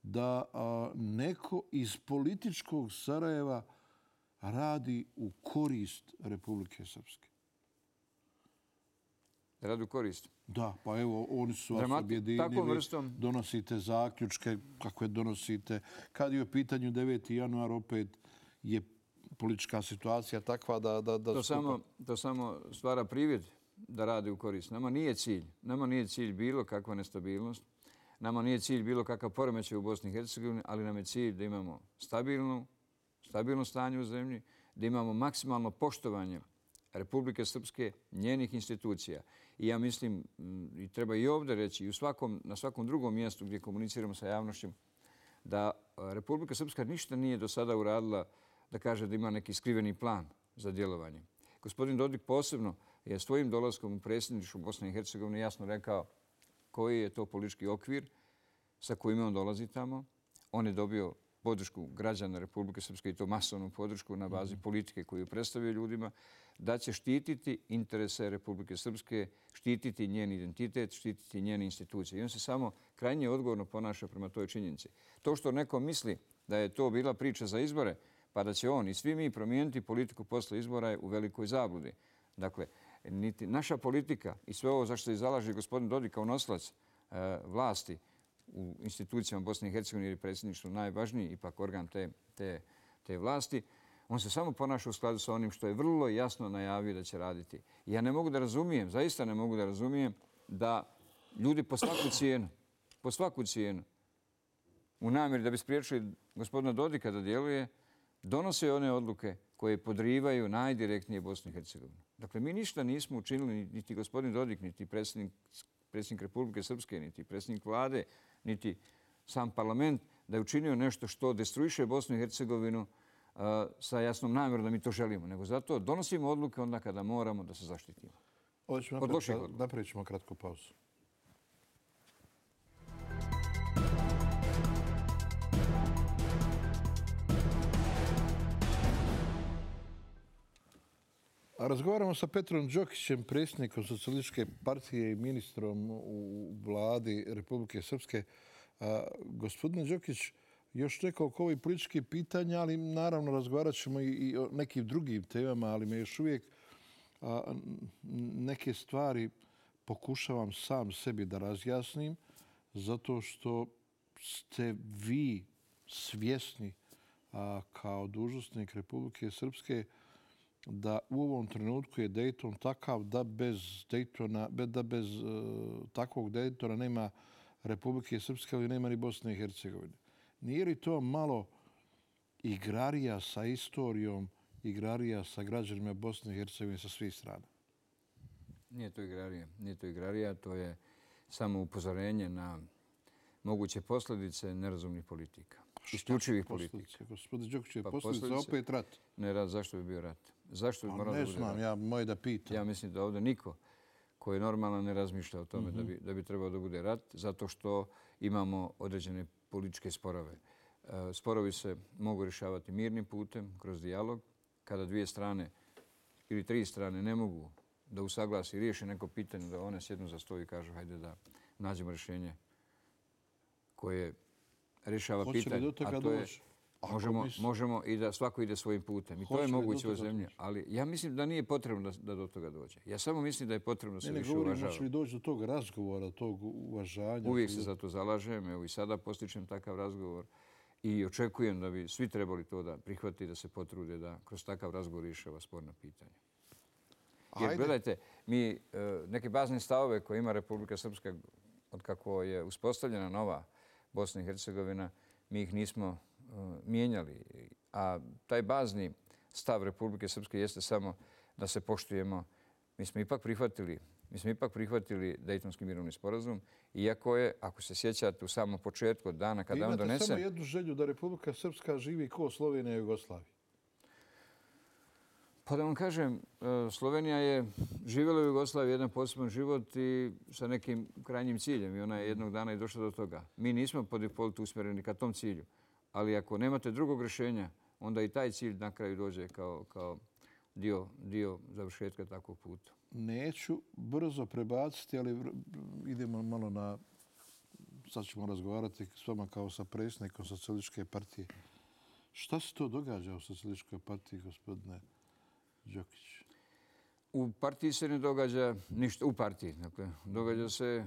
da neko iz političkog Sarajeva radi u korist Republike Srpske? Radi u korist? Da, pa evo, oni su vas objedinili, donosite zaključke, kakve donosite. Kad je u pitanju 9. januar, opet je politička situacija takva da... To samo stvara privid da radi u korist. Nama nije cilj bilo kakva nestabilnost. Nama nije cilj bilo kakav poremećaj u Bosni i Hercegovini, ali nam je cilj da imamo stabilno stanje u zemlji, da imamo maksimalno poštovanje Republike Srpske, njenih institucija. I ja mislim, i treba i ovdje reći, i na svakom drugom mjestu gdje komuniciramo sa javnošću, da Republika Srpska ništa nije do sada uradila da kaže da ima neki skriveni plan za djelovanje. Gospodin Dodik posebno je svojim dolaskom u predsjedništvo Bosne i Hercegovine jasno rekao koji je to politički okvir sa kojim on dolazi tamo. On je dobio podršku građana Republike Srpske i to masovnu podršku na bazi politike koju predstavio ljudima, da će štititi interese Republike Srpske, štititi njen identitet, štititi njene institucije. I on se samo krajnje odgovorno ponaša prema toj činjenici. To što neko misli da je to bila priča za izbore, pa da će on i svi mi promijeniti politiku posle izbora je u velikoj zabludi. Dakle, niti naša politika i sve ovo za što se zalaže gospodin Dodik kao nosilac vlasti u institucijama Bosne i Hercegovine, jer je predsjedništvo najvažniji ipak organ te vlasti, on se samo ponaša u skladu sa onim što je vrlo jasno najavio da će raditi. Ja ne mogu da razumijem, zaista ne mogu da razumijem da ljudi po svaku cijenu, u namjeri da bi spriječili gospodina Dodika da djeluje, donose one odluke koje podrivaju najdirektnije Bosnu i Hercegovinu. Dakle, mi ništa nismo učinili, niti gospodin Dodik, niti predsjednik Republike Srpske, niti predsjednik vlade, niti sam parlament, da je učinio nešto što destruiše Bosnu i Hercegovinu sa jasnom namjerom da mi to želimo. Nego zato donosimo odluke onda kada moramo da se zaštitimo. Od loših odluka. Napravit ćemo kratku pauzu. Razgovaramo sa Petrom Đokićem, predsjednikom Socijalističke partije i ministrom u vladi Republike Srpske. Gospodine Đokić, još nekoliko ovih političkih pitanja, ali naravno razgovarat ćemo i o nekim drugim temama, ali me još uvijek neke stvari pokušavam sam sebi da razjasnim, zato što ste vi svjesni kao dužnosnik Republike Srpske da u ovom trenutku je Dayton takav da bez takvog Daytona nema Republike Srpske, ali nema ni Bosne i Hercegovine. Nije li to malo igrarija sa istorijom, igrarija sa građanima Bosne i Hercegovine sa svih strana? Nije to igrarija, to je samo upozorenje na moguće posljedice nerazumnih politika. Isključivih politika. Gospodin Đokić, je posljedica opet rat? Ne rat, zašto bi bio rat? Zašto bi moralo da bude rat? Ne znam, ja moje da pitam. Ja mislim da ovdje niko koji normalno ne razmišlja o tome da bi trebao da bude rat, zato što imamo određene političke sporove. Sporovi se mogu rješavati mirnim putem, kroz dijalog. Kada dvije strane ili tri strane ne mogu da usaglasi i riješe neko pitanje, da one sjednu za stol i kažu hajde da nađemo rješenje koje rješava pitanje. Hoće li do toga doći? Možemo i da svako ide svojim putem. I to je moguće u zemlji. Ali ja mislim da nije potrebno da do toga dođe. Ja samo mislim da je potrebno da se više uvažava. Ne govorim, hoće li doći do tog razgovora, tog uvažanja. Uvijek se za to zalažem. Evo i sada postičem takav razgovor. I očekujem da bi svi trebali to da prihvati, da se potrude da kroz takav razgovor rješava sporna pitanja. Jer gledajte, mi neke bazne stavove koje ima Republika Srpska od kako je uspostavljena nova Bosna i Hercegovina, mi ih nismo mijenjali. A taj bazni stav Republike Srpske jeste samo da se poštujemo. Mi smo ipak prihvatili Dejtonski mirovni sporazum, iako je, ako se sjećate, u samom početku od dana kada on donese... Imate samo jednu želju da Republika Srpska živi kao Slovenija i Jugoslavija. Pa da vam kažem, Slovenija je živjela u Jugoslaviji jedan poseban život i sa nekim krajnjim ciljem. I ona je jednog dana i došla do toga. Mi nismo po defaultu usmjereni ka tom cilju. Ali ako nemate drugog rješenja, onda i taj cilj na kraju dođe kao dio završetka takvog puta. Neću brzo prebaciti, ali idemo malo na... Sad ćemo razgovarati s vama kao sa predsjednikom Socijalističke partije. Šta se to događa u Socijalističkoj partiji, gospodine Đokić? U partiji se ne događa ništa. U partiji, dakle, događa se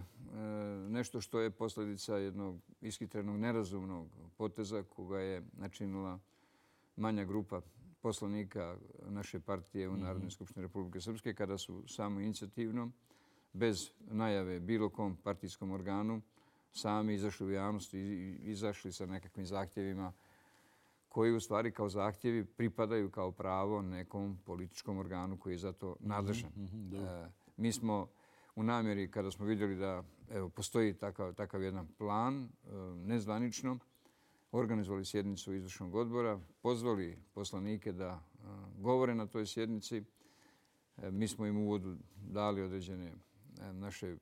nešto što je posljedica jednog ishitrenog, nerazumnog poteza koga je načinila manja grupa poslanika naše partije u Narodnoj skupštini Republike Srpske kada su samo inicijativno, bez najave bilo kom partijskom organu, sami izašli u javnost i izašli sa nekakvim zahtjevima koji u stvari kao zahtjevi pripadaju kao pravo nekom političkom organu koji je za to nadležan. Mi smo u namjeri, kada smo vidjeli da postoji takav jedan plan, nezvanično, organizovali sjednicu izvršnog odbora, pozvali poslanike da govore na toj sjednici. Mi smo im u uvodu dali određene naše,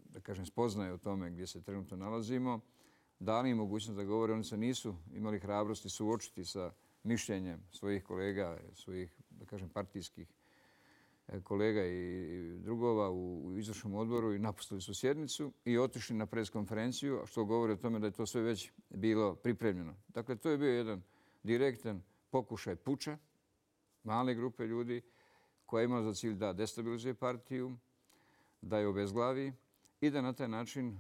da kažem, spoznaje o tome gdje se trenutno nalazimo. Dali im mogućnost da govore. Oni se nisu imali hrabrosti suočiti sa mišljenjem svojih kolega, svojih, da kažem, partijskih kolega i drugova u izvršnom odboru i napustili su sjednicu i otišli na preskonferenciju, što govori o tome da je to sve već bilo pripremljeno. Dakle, to je bio jedan direktan pokušaj puča male grupe ljudi koja je imala za cilj da destabilizuje partiju, da je obezglavi i da na taj način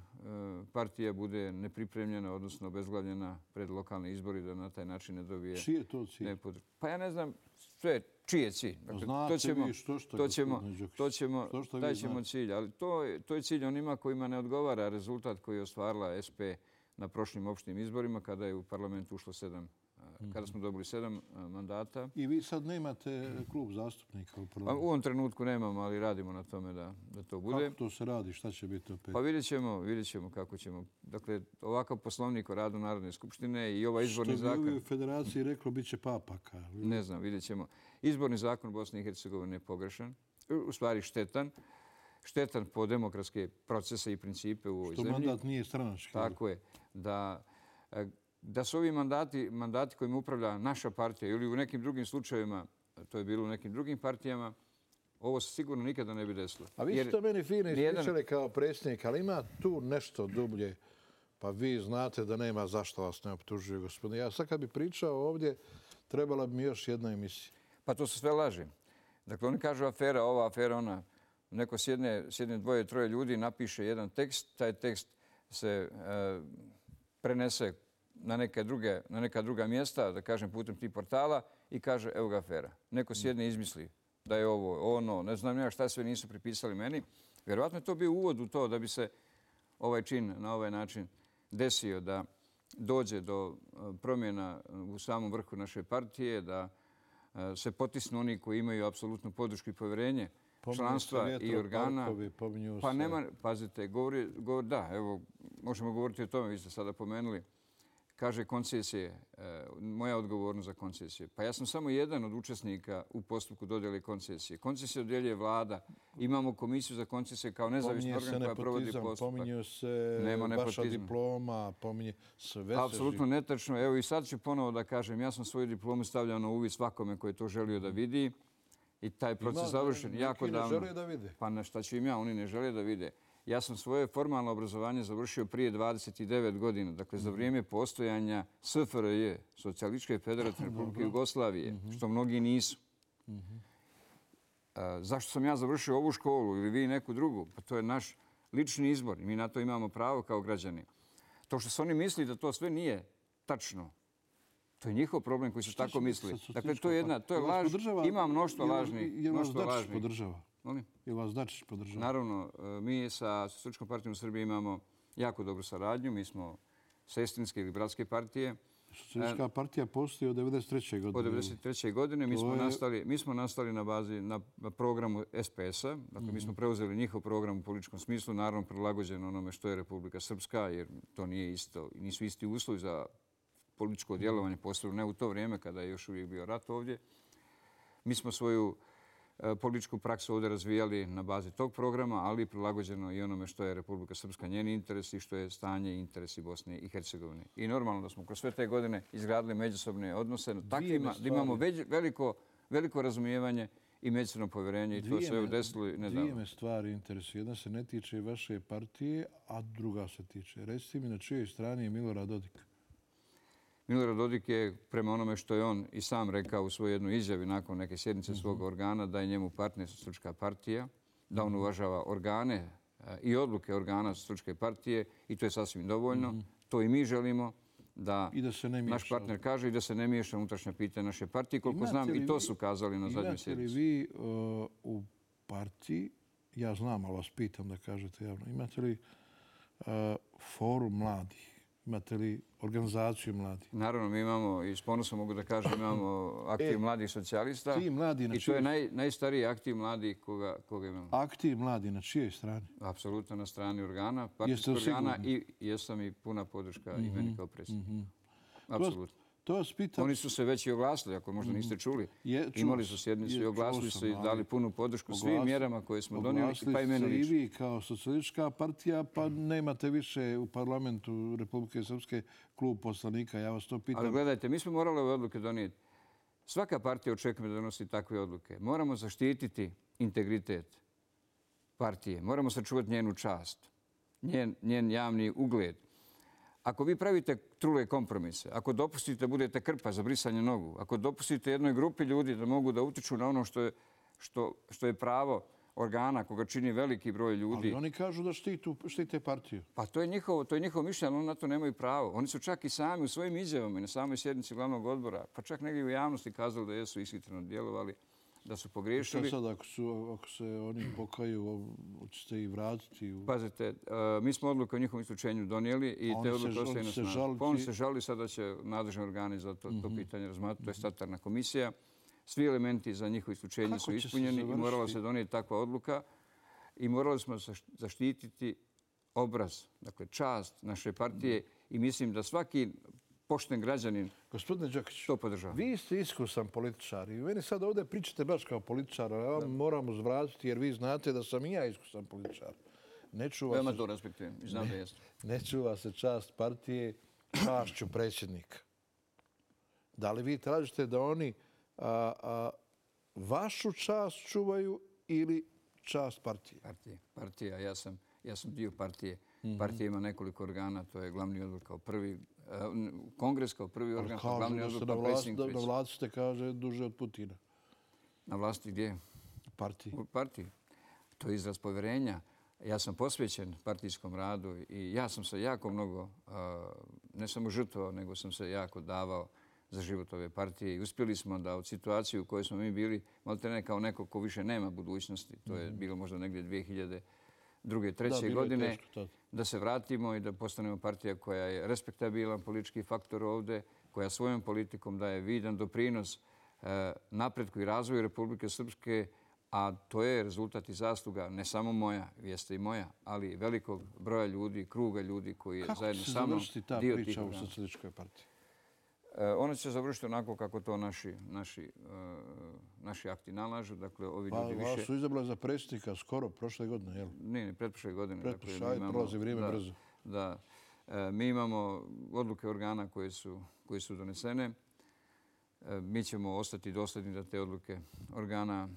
partija bude nepripremljena, odnosno obezglavljena pred lokalne izbori, da na taj način ne dobije... Čiji je to cilj? Pa ja ne znam sve čiji je cilj. Dakle, znate vi što taj ćemo cilj, ali to je cilj onima kojima ne odgovara rezultat koji je ostvarila SP na prošlim opštim izborima kada je u parlament ušlo 7, kada smo dobili 7 mandata. I vi sad nemate klub zastupnika u parlamentu? U ovom trenutku nemamo, ali radimo na tome da to bude. Kako to se radi? Šta će biti opet? Pa vidjet ćemo kako ćemo. Dakle, ovakav poslovnik o radu Narodne skupštine i ovaj izborni zakon... Što bi u Federaciji reklo, bit će papaka. Ne znam, vidjet ćemo. Izborni zakon Bosne i Hercegovine je pogrešan, u stvari štetan. Štetan po demokratske procese i principe u ovoj zemlji. Što mandat nije stranački. Tako je. Da su ovi mandati kojima upravlja naša partija ili u nekim drugim slučajevima, to je bilo u nekim drugim partijama, ovo se sigurno nikada ne bi desilo. A vi ste meni fino ispričali kao predsjednik, ali ima tu nešto dublje. Pa vi znate da nema zašto vas ne optužuju, gospodine. Ja sad kad bi pričao ovdje, trebala bi mi još jedna emisija. Pa to su sve laži. Dakle, oni kažu afera ova, afera ona. Neko sjedne dvoje, troje ljudi, napiše jedan tekst, taj tekst se prenese na neka druga mjesta, da kažem putem tih portala i kaže evo ga afera. Neko sjedne i izmisli da je ovo, ono, ne znam ja šta sve nisu pripisali meni. Vjerovatno je to bio uvod u to da bi se ovaj čin na ovaj način desio, da dođe do promjena u samom vrhu naše partije, da se potisnu oni koji imaju apsolutnu podršku i povjerenje članstva i organa. Pa nema, pazite, da, evo, možemo govoriti o tome, vi ste sada pomenuli. Kaže koncesije, moja odgovornost za koncesije. Pa ja sam samo jedan od učesnika u postupku dodjele koncesije. Koncesije dodjeljuje vlada. Imamo komisiju za koncesije kao nezavisni organ koja provodi postupak. Pominje se vaša diploma, pominje sve. Apsolutno netačno. Evo i sad ću ponovo da kažem, ja sam svoju diplomu stavljao na uvid svakome koji je to želio da vidi. I taj proces završen jako davno. Neki ne žele da vide. Pa šta ću im ja, oni ne žele da vide. Ja sam svoje formalno obrazovanje završio prije 29 godina, dakle za vrijeme postojanja SFRJ, Socijalističke federativne Republike Jugoslavije, što mnogi nisu. Zašto sam ja završio ovu školu ili vi neku drugu? Pa to je naš lični izbor i mi na to imamo pravo kao građani. To što su oni misli da to sve nije tačno, to je njihov problem koji su tako misli. Dakle, to je laž. Ima mnoštvo lažnih. Je vas Dačić podržava? Molim? Je vas Dačić podržava? Naravno, mi sa Socijalističkom partijom u Srbiji imamo jako dobru saradnju. Mi smo sestrinske ili bratske partije. Socijalistička partija postoji od 1993. godine. Od 1993. godine mi smo nastali na bazi na programu SPS-a. Dakle, mi smo preuzeli njihov program u političkom smislu, naravno prilagođeno onome što je Republika Srpska, jer to nije isto, nisu isti uslovi za političko djelovanje, posebno ne u to vrijeme kada je još uvijek bio rat ovdje. Mi smo svoju političku praksu ovdje razvijali na bazi tog programa, ali prilagođeno i onome što je Republika Srpska, njeni interesi i što je stanje i interesi Bosne i Hercegovine. I normalno da smo kroz sve te godine izgradili međusobne odnose takvima da imamo veliko razumijevanje i međusobno povjerenje i to se evo desilo nedavno. Dvije me stvari interesuju. Jedna se ne tiče vaše partije, a druga se tiče. Recite mi na čijoj strani je Milorad Dodik? Milorad Dodik je, prema onome što je on i sam rekao u svojoj jednoj izjavi nakon neke sjednice svog organa, da je njemu partner Socijalistička partija, da on uvažava organe i odluke organa Socijalističke partije i to je sasvim dovoljno. To i mi želimo da naš partner kaže i da se ne miješa unutrašnja pitanja naše partije. Koliko znam, i to su kazali na zadnjoj sjednici. Imate li vi u partiji, ja znam, ali vas pitam da kažete javno, imate li forum mladih? Imate li organizaciju mladih? Naravno, mi imamo, i s ponosom mogu da kažem, imamo aktiv mladih socijalista. I to je najstariji aktiv mladih koga imamo. Aktiv mladih na čijoj strani? Apsolutno na strani organa, partijskog organa i jesam i puna podrška i meni kao predsjednik. Apsolutno. Oni su se već i oglasili, ako možda niste čuli. Imali su sjednicu i oglasili se i dali punu podršku svim mjerama koje smo donijeli, pa i meni lično. Oglasili se i vi kao Socijalistička partija, pa nemate više u parlamentu Republike Srpske klub poslanika. Ja vas to pitam. Ali gledajte, mi smo morali ove odluke donijeti. Svaka partija očekuje da donosi takve odluke. Moramo zaštititi integritet partije. Moramo sačuvati njenu čast, njen javni ugled. Ako vi pravite trule kompromise, ako dopustite budete krpa za brisanje nogu, ako dopustite jednoj grupi ljudi da mogu da utiču na ono što je pravo organa koga čini veliki broj ljudi. Ali oni kažu da štite partiju. Pa to je njihovo mišljenje, ali oni na to nemaju pravo. Oni su čak i sami u svojim izjavama i na samoj sjednici glavnog odbora, pa čak negdje u javnosti kazali da jesu ishitreno djelovali, da su pogriješili. Što sad ako se oni pokaju, hoćete i vratiti? Pazite, mi smo odluku o njihovom isključenju donijeli i te odluke ostaju na snazi. Pa oni se žali, sada će nadležni organi za to pitanje razmatrati, to je statutarna komisija. Svi elementi za njihovo isključenje su ispunjeni i morala se donijeti takva odluka i morali smo zaštititi obraz, dakle čast naše partije i mislim da svaki pošten građanin Gospodine Đokić, to podržava. Vi ste iskusan političar i meni sad ovdje pričate baš kao političar, a ja vam moram uzvratiti jer vi znate da sam i ja iskusan političar. Veoma to respektujem i znam da jeste. Ne čuva se čast partije, čašću predsjednika. Da li vi tražite da oni vašu čast čuvaju ili čast partije? Partija. Ja sam dio partije. Partija ima nekoliko organa, to je glavni odbor kao prvi, kongres kao prvi organ, kao glavni odbor kao predsjednik. Na vlasti ste, kaže, duže od Putina. Na vlasti gdje? U partiji. U partiji. To je izraz povjerenja. Ja sam posvećen partijskom radu i ja sam se jako mnogo, ne samo žrtvovao, nego sam se jako davao za život ove partije i uspjeli smo da od situacije u kojoj smo mi bili, maltene kao neko ko više nema budućnosti, to je bilo možda negdje 2002. 2003. godine, da se vratimo i da postanemo partija koja je respektabilan politički faktor ovdje, koja svojom politikom daje vidan doprinos napretku i razvoju Republike Srpske, a to je rezultat i zasluga ne samo moja, jeste i moja, ali velikog broja ljudi, kruga ljudi koji je zajedno sa mnom dio tih organa. Kako će se završiti ta priča u Socijalističkoj partiji? Ona će se završiti onako kako to naši akti nalažu. Dakle, ovi ljudi više... Vas su izabrali za predsjednika skoro, prošle godine, jel? Ne, pretprošle godine. Pretprošle, prolazi vrijeme brzo. Da. Mi imamo odluke organa koje su donesene. Mi ćemo ostati dosljedni da te odluke organa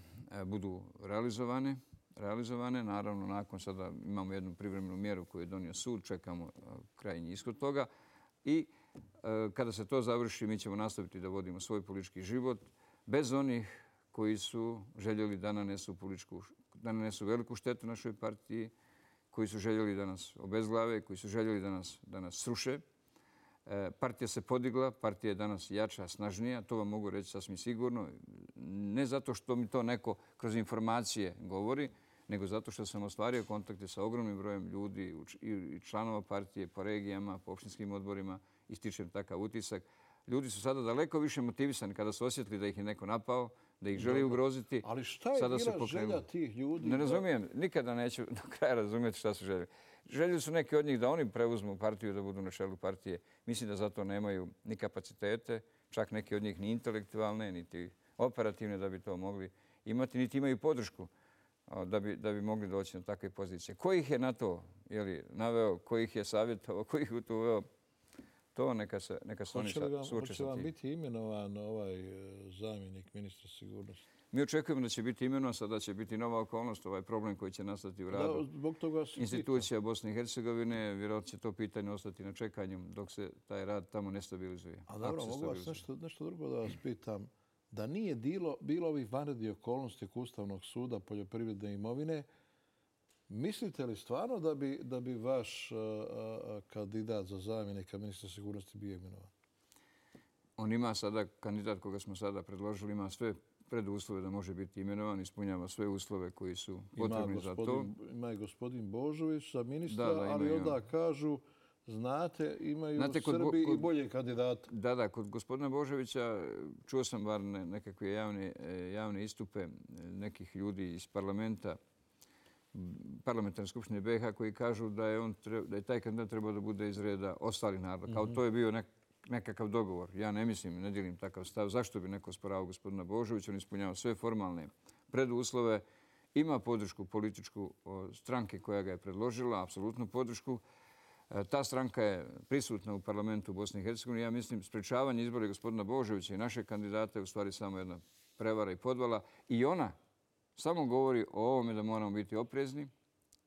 budu realizovane. realizovane. Naravno, nakon sada imamo jednu privremenu mjeru koju je donio sud, čekamo krajnji ishod toga. I kada se to završi, mi ćemo nastaviti da vodimo svoj politički život bez onih koji su željeli da nanesu veliku štetu našoj partiji, koji su željeli da nas obezglave, koji su željeli da nas sruše. Partija se podigla, partija je danas jača, snažnija, to vam mogu reći sasvim sigurno. Ne zato što mi to neko kroz informacije govori, nego zato što sam ostvario kontakte sa ogromnim brojem ljudi i članova partije po regijama, po opštinskim odborima i stičem takav utisak. Ljudi su sada daleko više motivisani kada su osjetili da ih je neko napao, da ih želi ugroziti. Ali šta je bila želja tih ljudi? Ne razumijem, nikada neću do kraja razumjeti šta su željeli. Željeli su neki od njih da oni preuzmu partiju, da budu na čelu partije. Mislim da za to nemaju ni kapacitete, čak neki od njih ni intelektualne, niti operativne da bi to mogli imati, niti imaju podršku da bi mogli doći na takve pozicije. Ko ih je na to naveo, ko ih je savjetovao, ko ih u to uveo, to neka se oni suoče sa Hoće vam tim. biti imenovan ovaj zamjenik ministra sigurnosti? Mi očekujemo da će biti imenovan, sada će biti nova okolnost, ovaj problem koji će nastati u radu Zbog toga se institucija Bosne i Hercegovine. Vjerojatno će to pitanje ostati na čekanju dok se taj rad tamo ne stabilizuje. A dobro, mogu vas nešto drugo da vas pitam. Da nije bilo ovih vanrednih okolnosti Ustavnog suda poljoprivredne imovine, mislite li stvarno da bi vaš kandidat za zamjenika ministra sigurnosti bio imenovan? On ima sada, kandidat koga smo sada predložili, ima sve preduslove da može biti imenovan, ispunjava sve uslove koji su potrebni za to. Ima i gospodin Božović za ministra, ali onda kažu, znate, imaju u Srbiji i bolje kandidate. Da, kod gospodina Božovića čuo sam bar nekakve javne istupe nekih ljudi iz parlamentarne skupštine BiH koji kažu da je taj kandidat trebao da bude iz reda ostalih naroda. Kao to je bio nekakav dogovor. Ja ne mislim, ne dijelim takav stav. Zašto bi neko osporavao gospodina Božovića? On ispunjava sve formalne preduslove. Ima podršku političku stranke koja ga je predložila, apsolutnu podršku. Ta stranka je prisutna u parlamentu Bosne i Hercegovine. Ja mislim, sprečavanje izbora gospodina Božovića i naše kandidate je u stvari samo jedna prevara i podvala. I ona samo govori o ovome da moramo biti oprezni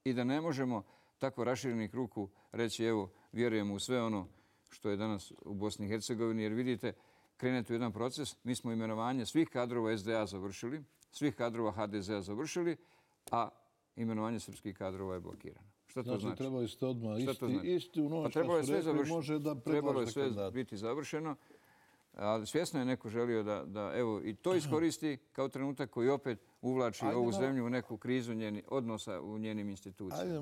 i da ne možemo tako raširenih ruku reći evo, vjerujemo u sve ono što je danas u Bosni i Hercegovini. Jer vidite, krenete u jedan proces. Mi smo imenovanje svih kadrova SDA završili, svih kadrova HDZ-a završili, a imenovanje srpskih kadrova je blokirano. Šta to znači? Trebali ste odmah isti u noć trebalo je sve rekli, može da trebalo je sve kandidat. biti završeno. Ali svjesno je neko želio da evo i to iskoristi kao trenutak koji opet uvlači ovu zemlju u neku krizu odnosa u njenim institucijama. Ajde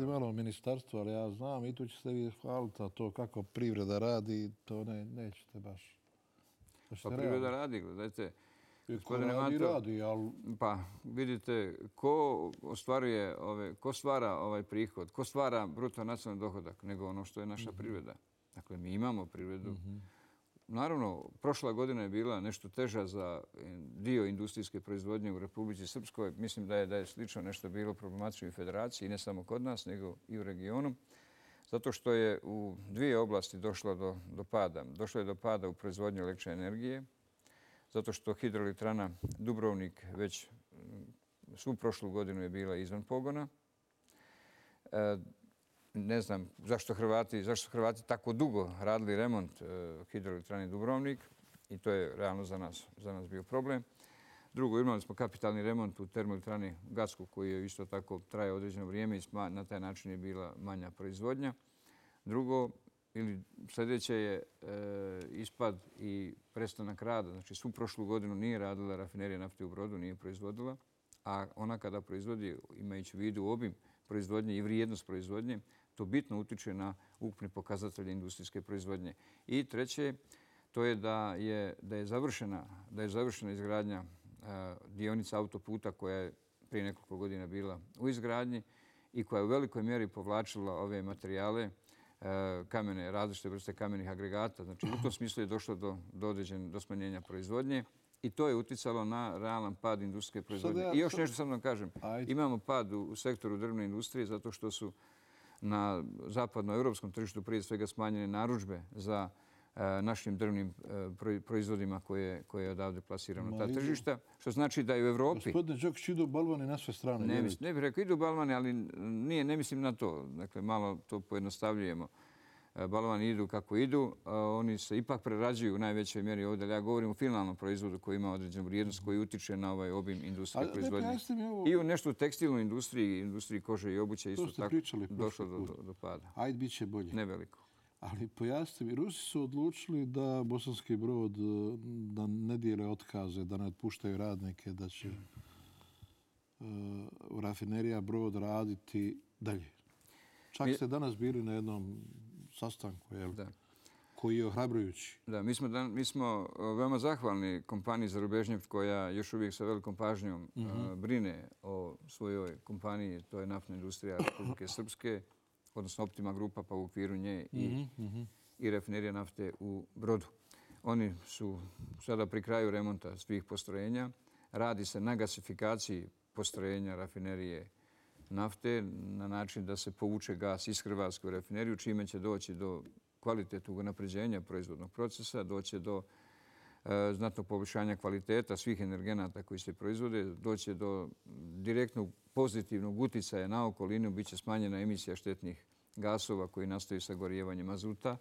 malo o ministarstvu, ali ja znam i tu ćete vi hvaliti, a to kako privreda radi, to nećete baš. Pa privreda radi, gledajte. Radi, ali... Pa vidite, ko stvara ovaj prihod, ko stvara bruto nacionalni dohodak, nego ono što je naša privreda. Dakle, mi imamo privredu. Naravno, prošla godina je bila nešto teža za dio industrijske proizvodnje u Republici Srpskoj. Mislim da je slično nešto bilo problematično i u Federaciji, ne samo kod nas, nego i u regionu. Zato što je u dvije oblasti došlo do pada. Došlo je do pada u proizvodnju električne energije, zato što hidroelektrana Dubrovnik već svu prošlu godinu je bila izvan pogona. Ne znam zašto su Hrvati tako dugo radili remont hidroelektrane Dubrovnik i to je realno za nas bio problem. Drugo, imali smo kapitalni remont u termoelektrani Gacku koji je isto tako trajao određeno vrijeme i na taj način je bila manja proizvodnja. Drugo, ili sljedeće je ispad i prestanak rada. Znači, svu prošlu godinu nije radila rafinerija nafte u Brodu, nije proizvodila, a ona kada proizvodi, imajući u vidu obim proizvodnje i vrijednost proizvodnje, to bitno utiče na ukupne pokazatelje industrijske proizvodnje. I treće, to je da je završena izgradnja dionica autoputa koja je prije nekoliko godina bila u izgradnji i koja je u velikoj mjeri povlačila ove materijale, različite vrste kamenih agregata. Znači, u tom smislu je došlo do smanjenja proizvodnje i to je uticalo na realan pad industrijske proizvodnje. I još nešto sam vam kažem. Imamo pad u sektoru drvne industrije zato što su na zapadnoevropskom tržištu prije svega smanjene narudžbe za našim drvnim proizvodima koje odavde plasiramo na ta tržišta. Što znači da i u Evropi... Gospodine Đokić, idu balvani na sve strane. Ne bih rekao idu balvani, ali ne mislim na to. Dakle, malo to pojednostavljujemo. Balvani idu kako idu, oni se ipak prerađuju u najvećoj mjeri ovdje. Ja govorim o finalnom proizvodu koji ima određenu vrijednost, koji utiče na ovaj obim industrije proizvodnje. I u nešto u tekstilnoj industriji kože i obuće isto tako došlo do pada. Ajde, bit će bolje. Neveliko. Ali pojasnite mi, Rusi su odlučili da Bosanski Brod da ne dijele otkaze, da ne otpuštaju radnike, da će rafinerija Brod raditi dalje. Čak ste danas bili na jednom sastanku, koji je ohrabrujući. Da, mi smo veoma zahvalni kompaniji Zarubežnjeft koja još uvijek sa velikom pažnjom brine o svojoj kompaniji, to je naftna industrija Republike Srpske, odnosno Optima grupa, pa u okviru nje i rafinerija nafte u Brodu. Oni su sada pri kraju remonta svih postrojenja. Radi se na gasifikaciji postrojenja rafinerije nafte na način da se povuče gas iz Hrvatske u rafineriju, čime će doći do kvalitetnog unapređenja proizvodnog procesa, doći do znatnog poboljšanja kvaliteta svih energenata koji se proizvode, doći do direktnog pozitivnog uticaja na okolinu, bit će smanjena emisija štetnih gasova koji nastaju sagorijevanjem azuta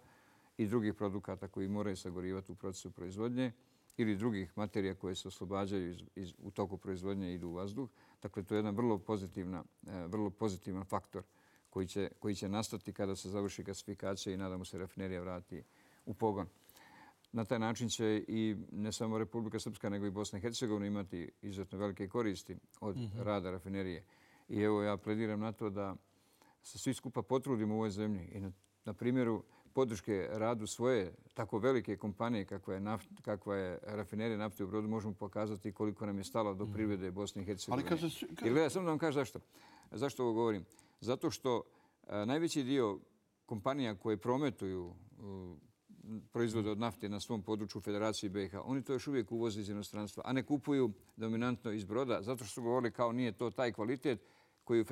i drugih produkata koji moraju sagorivati u procesu proizvodnje ili drugih materija koje se oslobađaju u toku proizvodnje i idu u vazduh. Dakle, to je jedan vrlo pozitivan faktor koji će nastati kada se završi gasifikacija i nadamo se rafinerija vrati u pogon. Na taj način će i ne samo Republika Srpska, nego i Bosna i Hercegovina imati izuzetno velike koristi od rada rafinerije. I evo ja plediram na to da se svi skupa potrudimo u ovoj zemlji i na primjeru podrške radu svoje tako velike kompanije kakva je rafinerija nafte u Brodu možemo pokazati koliko nam je stalo do privrede Bosne i Hercegovine. I gledaj, samo da vam kažem zašto. Zašto ovo govorim? Zato što najveći dio kompanija koje prometuju proizvode od nafte na svom području u Federaciji BiH, oni to još uvijek uvoze iz inostranstva, a ne kupuju dominantno iz Broda, zato što su govorili kao nije to taj kvalitet koji je u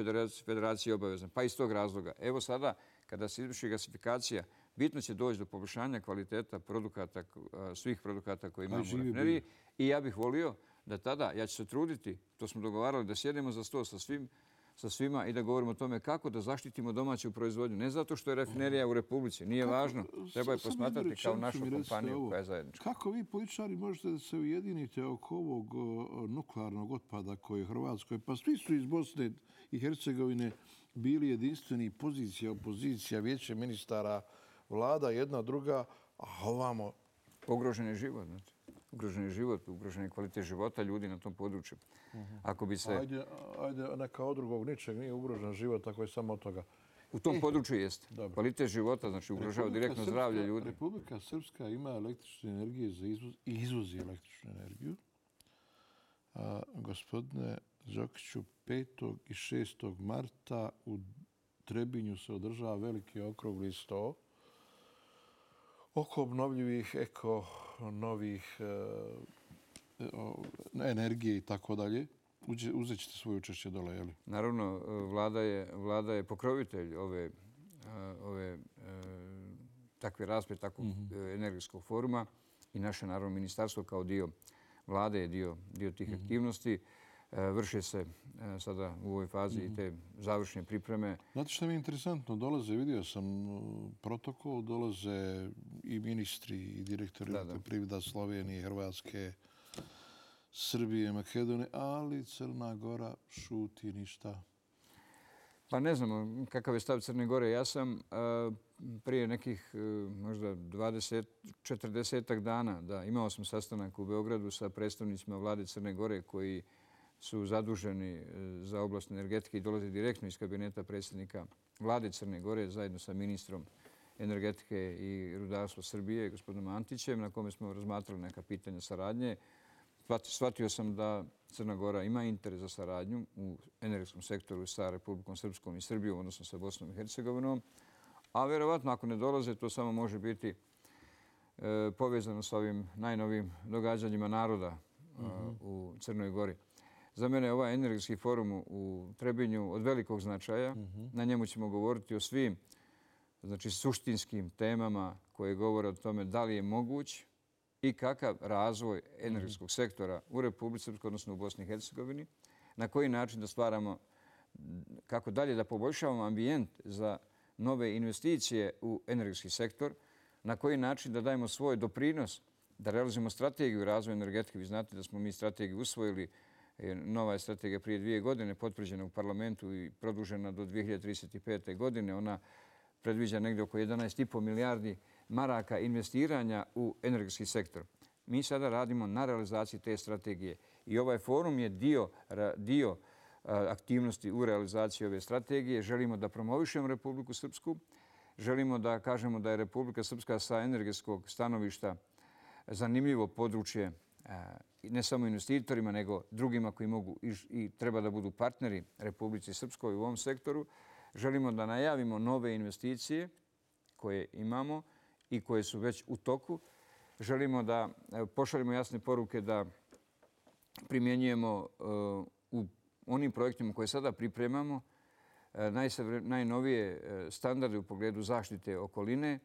Federaciji obavezan. Pa iz tog razloga. Evo sada, kada se izvrši gasifikacija, bitno će doći do poboljšanja kvaliteta svih produkata koje imamo u rafineriji. I ja bih volio da tada, ja ću se truditi, to smo dogovarali, da sjedemo za sto sa svima i da govorimo o tome kako da zaštitimo domaću proizvodnju. Ne zato što je rafinerija u Republici, nije važno. Treba je posmatrati kao našu kompaniju koja je zajednička. Kako vi političari možete da se ujedinite oko ovog nuklearnog otpada koji je u Hrvatskoj? Pa svi su iz Bosne i Hercegovine bili jedinstveni, pozicija, opozicija, vijeće ministara, vlada, jedna, druga, a ovamo... Ugrožen je život, znači. Ugrožen je život, ugrožen je kvalitet života ljudi na tom području. Ako bi se... Ajde, neka od drugog ničeg nije ugrožen život, ako je samo od toga. U tom području jeste. Kvalitet života, znači ugrožava direktno zdravlje ljudi. Republika Srpska ima električne energije za izvoz i izvozi električnu energiju. Gospodine Đokiću, 5. i 6. marta u Trebinju se održava veliki okrugli sto oko obnovljivih novih energije i tako dalje. Uzet ćete svoje učešće dole, je li? Naravno, vlada je pokrovitelj ove takve rasprave, takvog energetskog foruma i naše, naravno, ministarstvo kao dio vlade je dio tih aktivnosti. Vrše se sada u ovoj fazi i te završne pripreme. Znate što mi je interesantno? Dolaze, vidio sam protokol, dolaze i ministri i direktori privreda Slovenije, Hrvatske, Srbije, Makedonije, ali Crna Gora šuti ništa. Pa ne znamo kakav je stav Crne Gore. Ja sam prije nekih možda 20-40 dana imao sam sastanak u Beogradu sa predstavnicima vlade Crne Gore koji su zaduženi za oblast energetike i dolaze direktno iz kabineta predsjednika vlade Crne Gore zajedno sa ministrom energetike i rudarstva Srbije, gospodinom Antićem, na kome smo razmatrali neka pitanja saradnje. Shvatio sam da Crna Gora ima interes za saradnju u energetskom sektoru sa Republikom Srpskom i Srbijom, odnosno sa Bosnom i Hercegovinom. A vjerovatno ako ne dolaze, to samo može biti povezano sa ovim najnovijim događanjima naroda u Crnoj Gori. Za mene je ovaj energetski forum u Trebinju od velikog značaja. Na njemu ćemo govoriti o svim znači suštinskim temama koje govore o tome da li je moguć i kakav razvoj energetskog sektora u Republici Srpskoj, odnosno u Bosni i Hercegovini, na koji način da stvaramo, kako dalje da poboljšavamo ambijent za nove investicije u energetski sektor, na koji način da dajemo svoj doprinos, da realizujemo strategiju razvoja energetike. Vi znate da smo mi strategiju usvojili, nova je strategija prije 2 godine potvrđena u parlamentu i produžena do 2035. godine. Ona predviđa negdje oko 11,5 milijardi maraka investiranja u energetski sektor. Mi sada radimo na realizaciji te strategije i ovaj forum je dio aktivnosti u realizaciji ove strategije. Želimo da promovišemo Republiku Srpsku, želimo da kažemo da je Republika Srpska sa energetskog stanovišta zanimljivo područje ne samo investitorima, nego drugima koji mogu i treba da budu partneri Republici Srpskoj u ovom sektoru. Želimo da najavimo nove investicije koje imamo i koje su već u toku. Želimo da pošaljemo jasne poruke da primjenjujemo u onim projektima koje sada pripremamo najnovije standarde u pogledu zaštite okoline.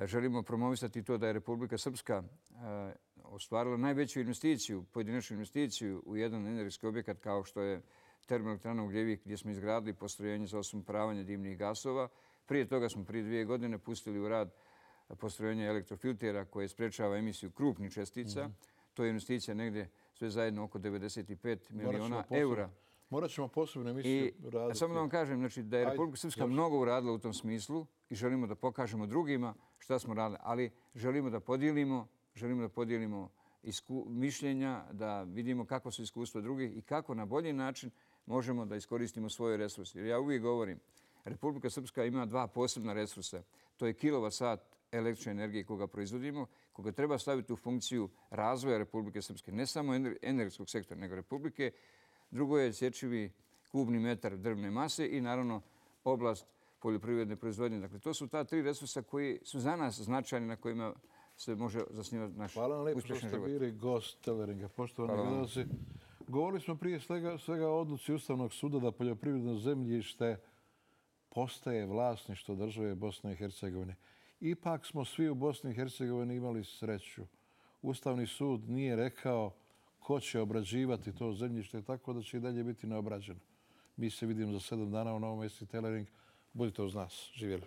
Želimo promovisati to da je Republika Srpska ostvarila najveću investiciju, pojedinačnu investiciju u jedan energetski objekat kao što je termoelektrana Ugljevik, gdje smo izgradili postrojenje za osumporavanje dimnih gasova. Prije toga smo prije 2 godine pustili u rad postrojenje elektrofiltera koje sprečava emisiju krupnih čestica. To je investicija negdje sve zajedno oko 95 miliona eura. Morat ćemo posebno emisiju raditi. Samo da vam kažem znači, da je Republika Srpska mnogo uradila u tom smislu i želimo da pokažemo drugima šta smo radili, ali želimo da podijelimo mišljenja, da vidimo kako su iskustva drugih i kako na bolji način možemo da iskoristimo svoje resurse. Jer ja uvijek govorim, Republika Srpska ima 2 posebna resursa. To je kilovat-sat električne energije koga proizvodimo, koga treba staviti u funkciju razvoja Republike Srpske, ne samo energetskog sektora, nego Republike. Drugo je sječivi kubni metar drvne mase i naravno oblast poljoprivredne proizvodnje. Dakle, to su ta 3 resursa koji su za nas značajni, na kojima se može zasnivati naš uspješan život. Hvala vam lijepo što ste bili gost Teleringa. Poštovani gledalci, govorili smo prije svega o odluci Ustavnog suda da poljoprivredno zemljište postaje vlasništvo države Bosne i Hercegovine. Ipak smo svi u Bosni i Hercegovini imali sreću. Ustavni sud nije rekao ko će obrađivati to zemljište, tako da će i dalje biti neobrađeno. Mi se vidimo za 7 dana u Novom mjestu Telering. Budite uz nas. Živjeli.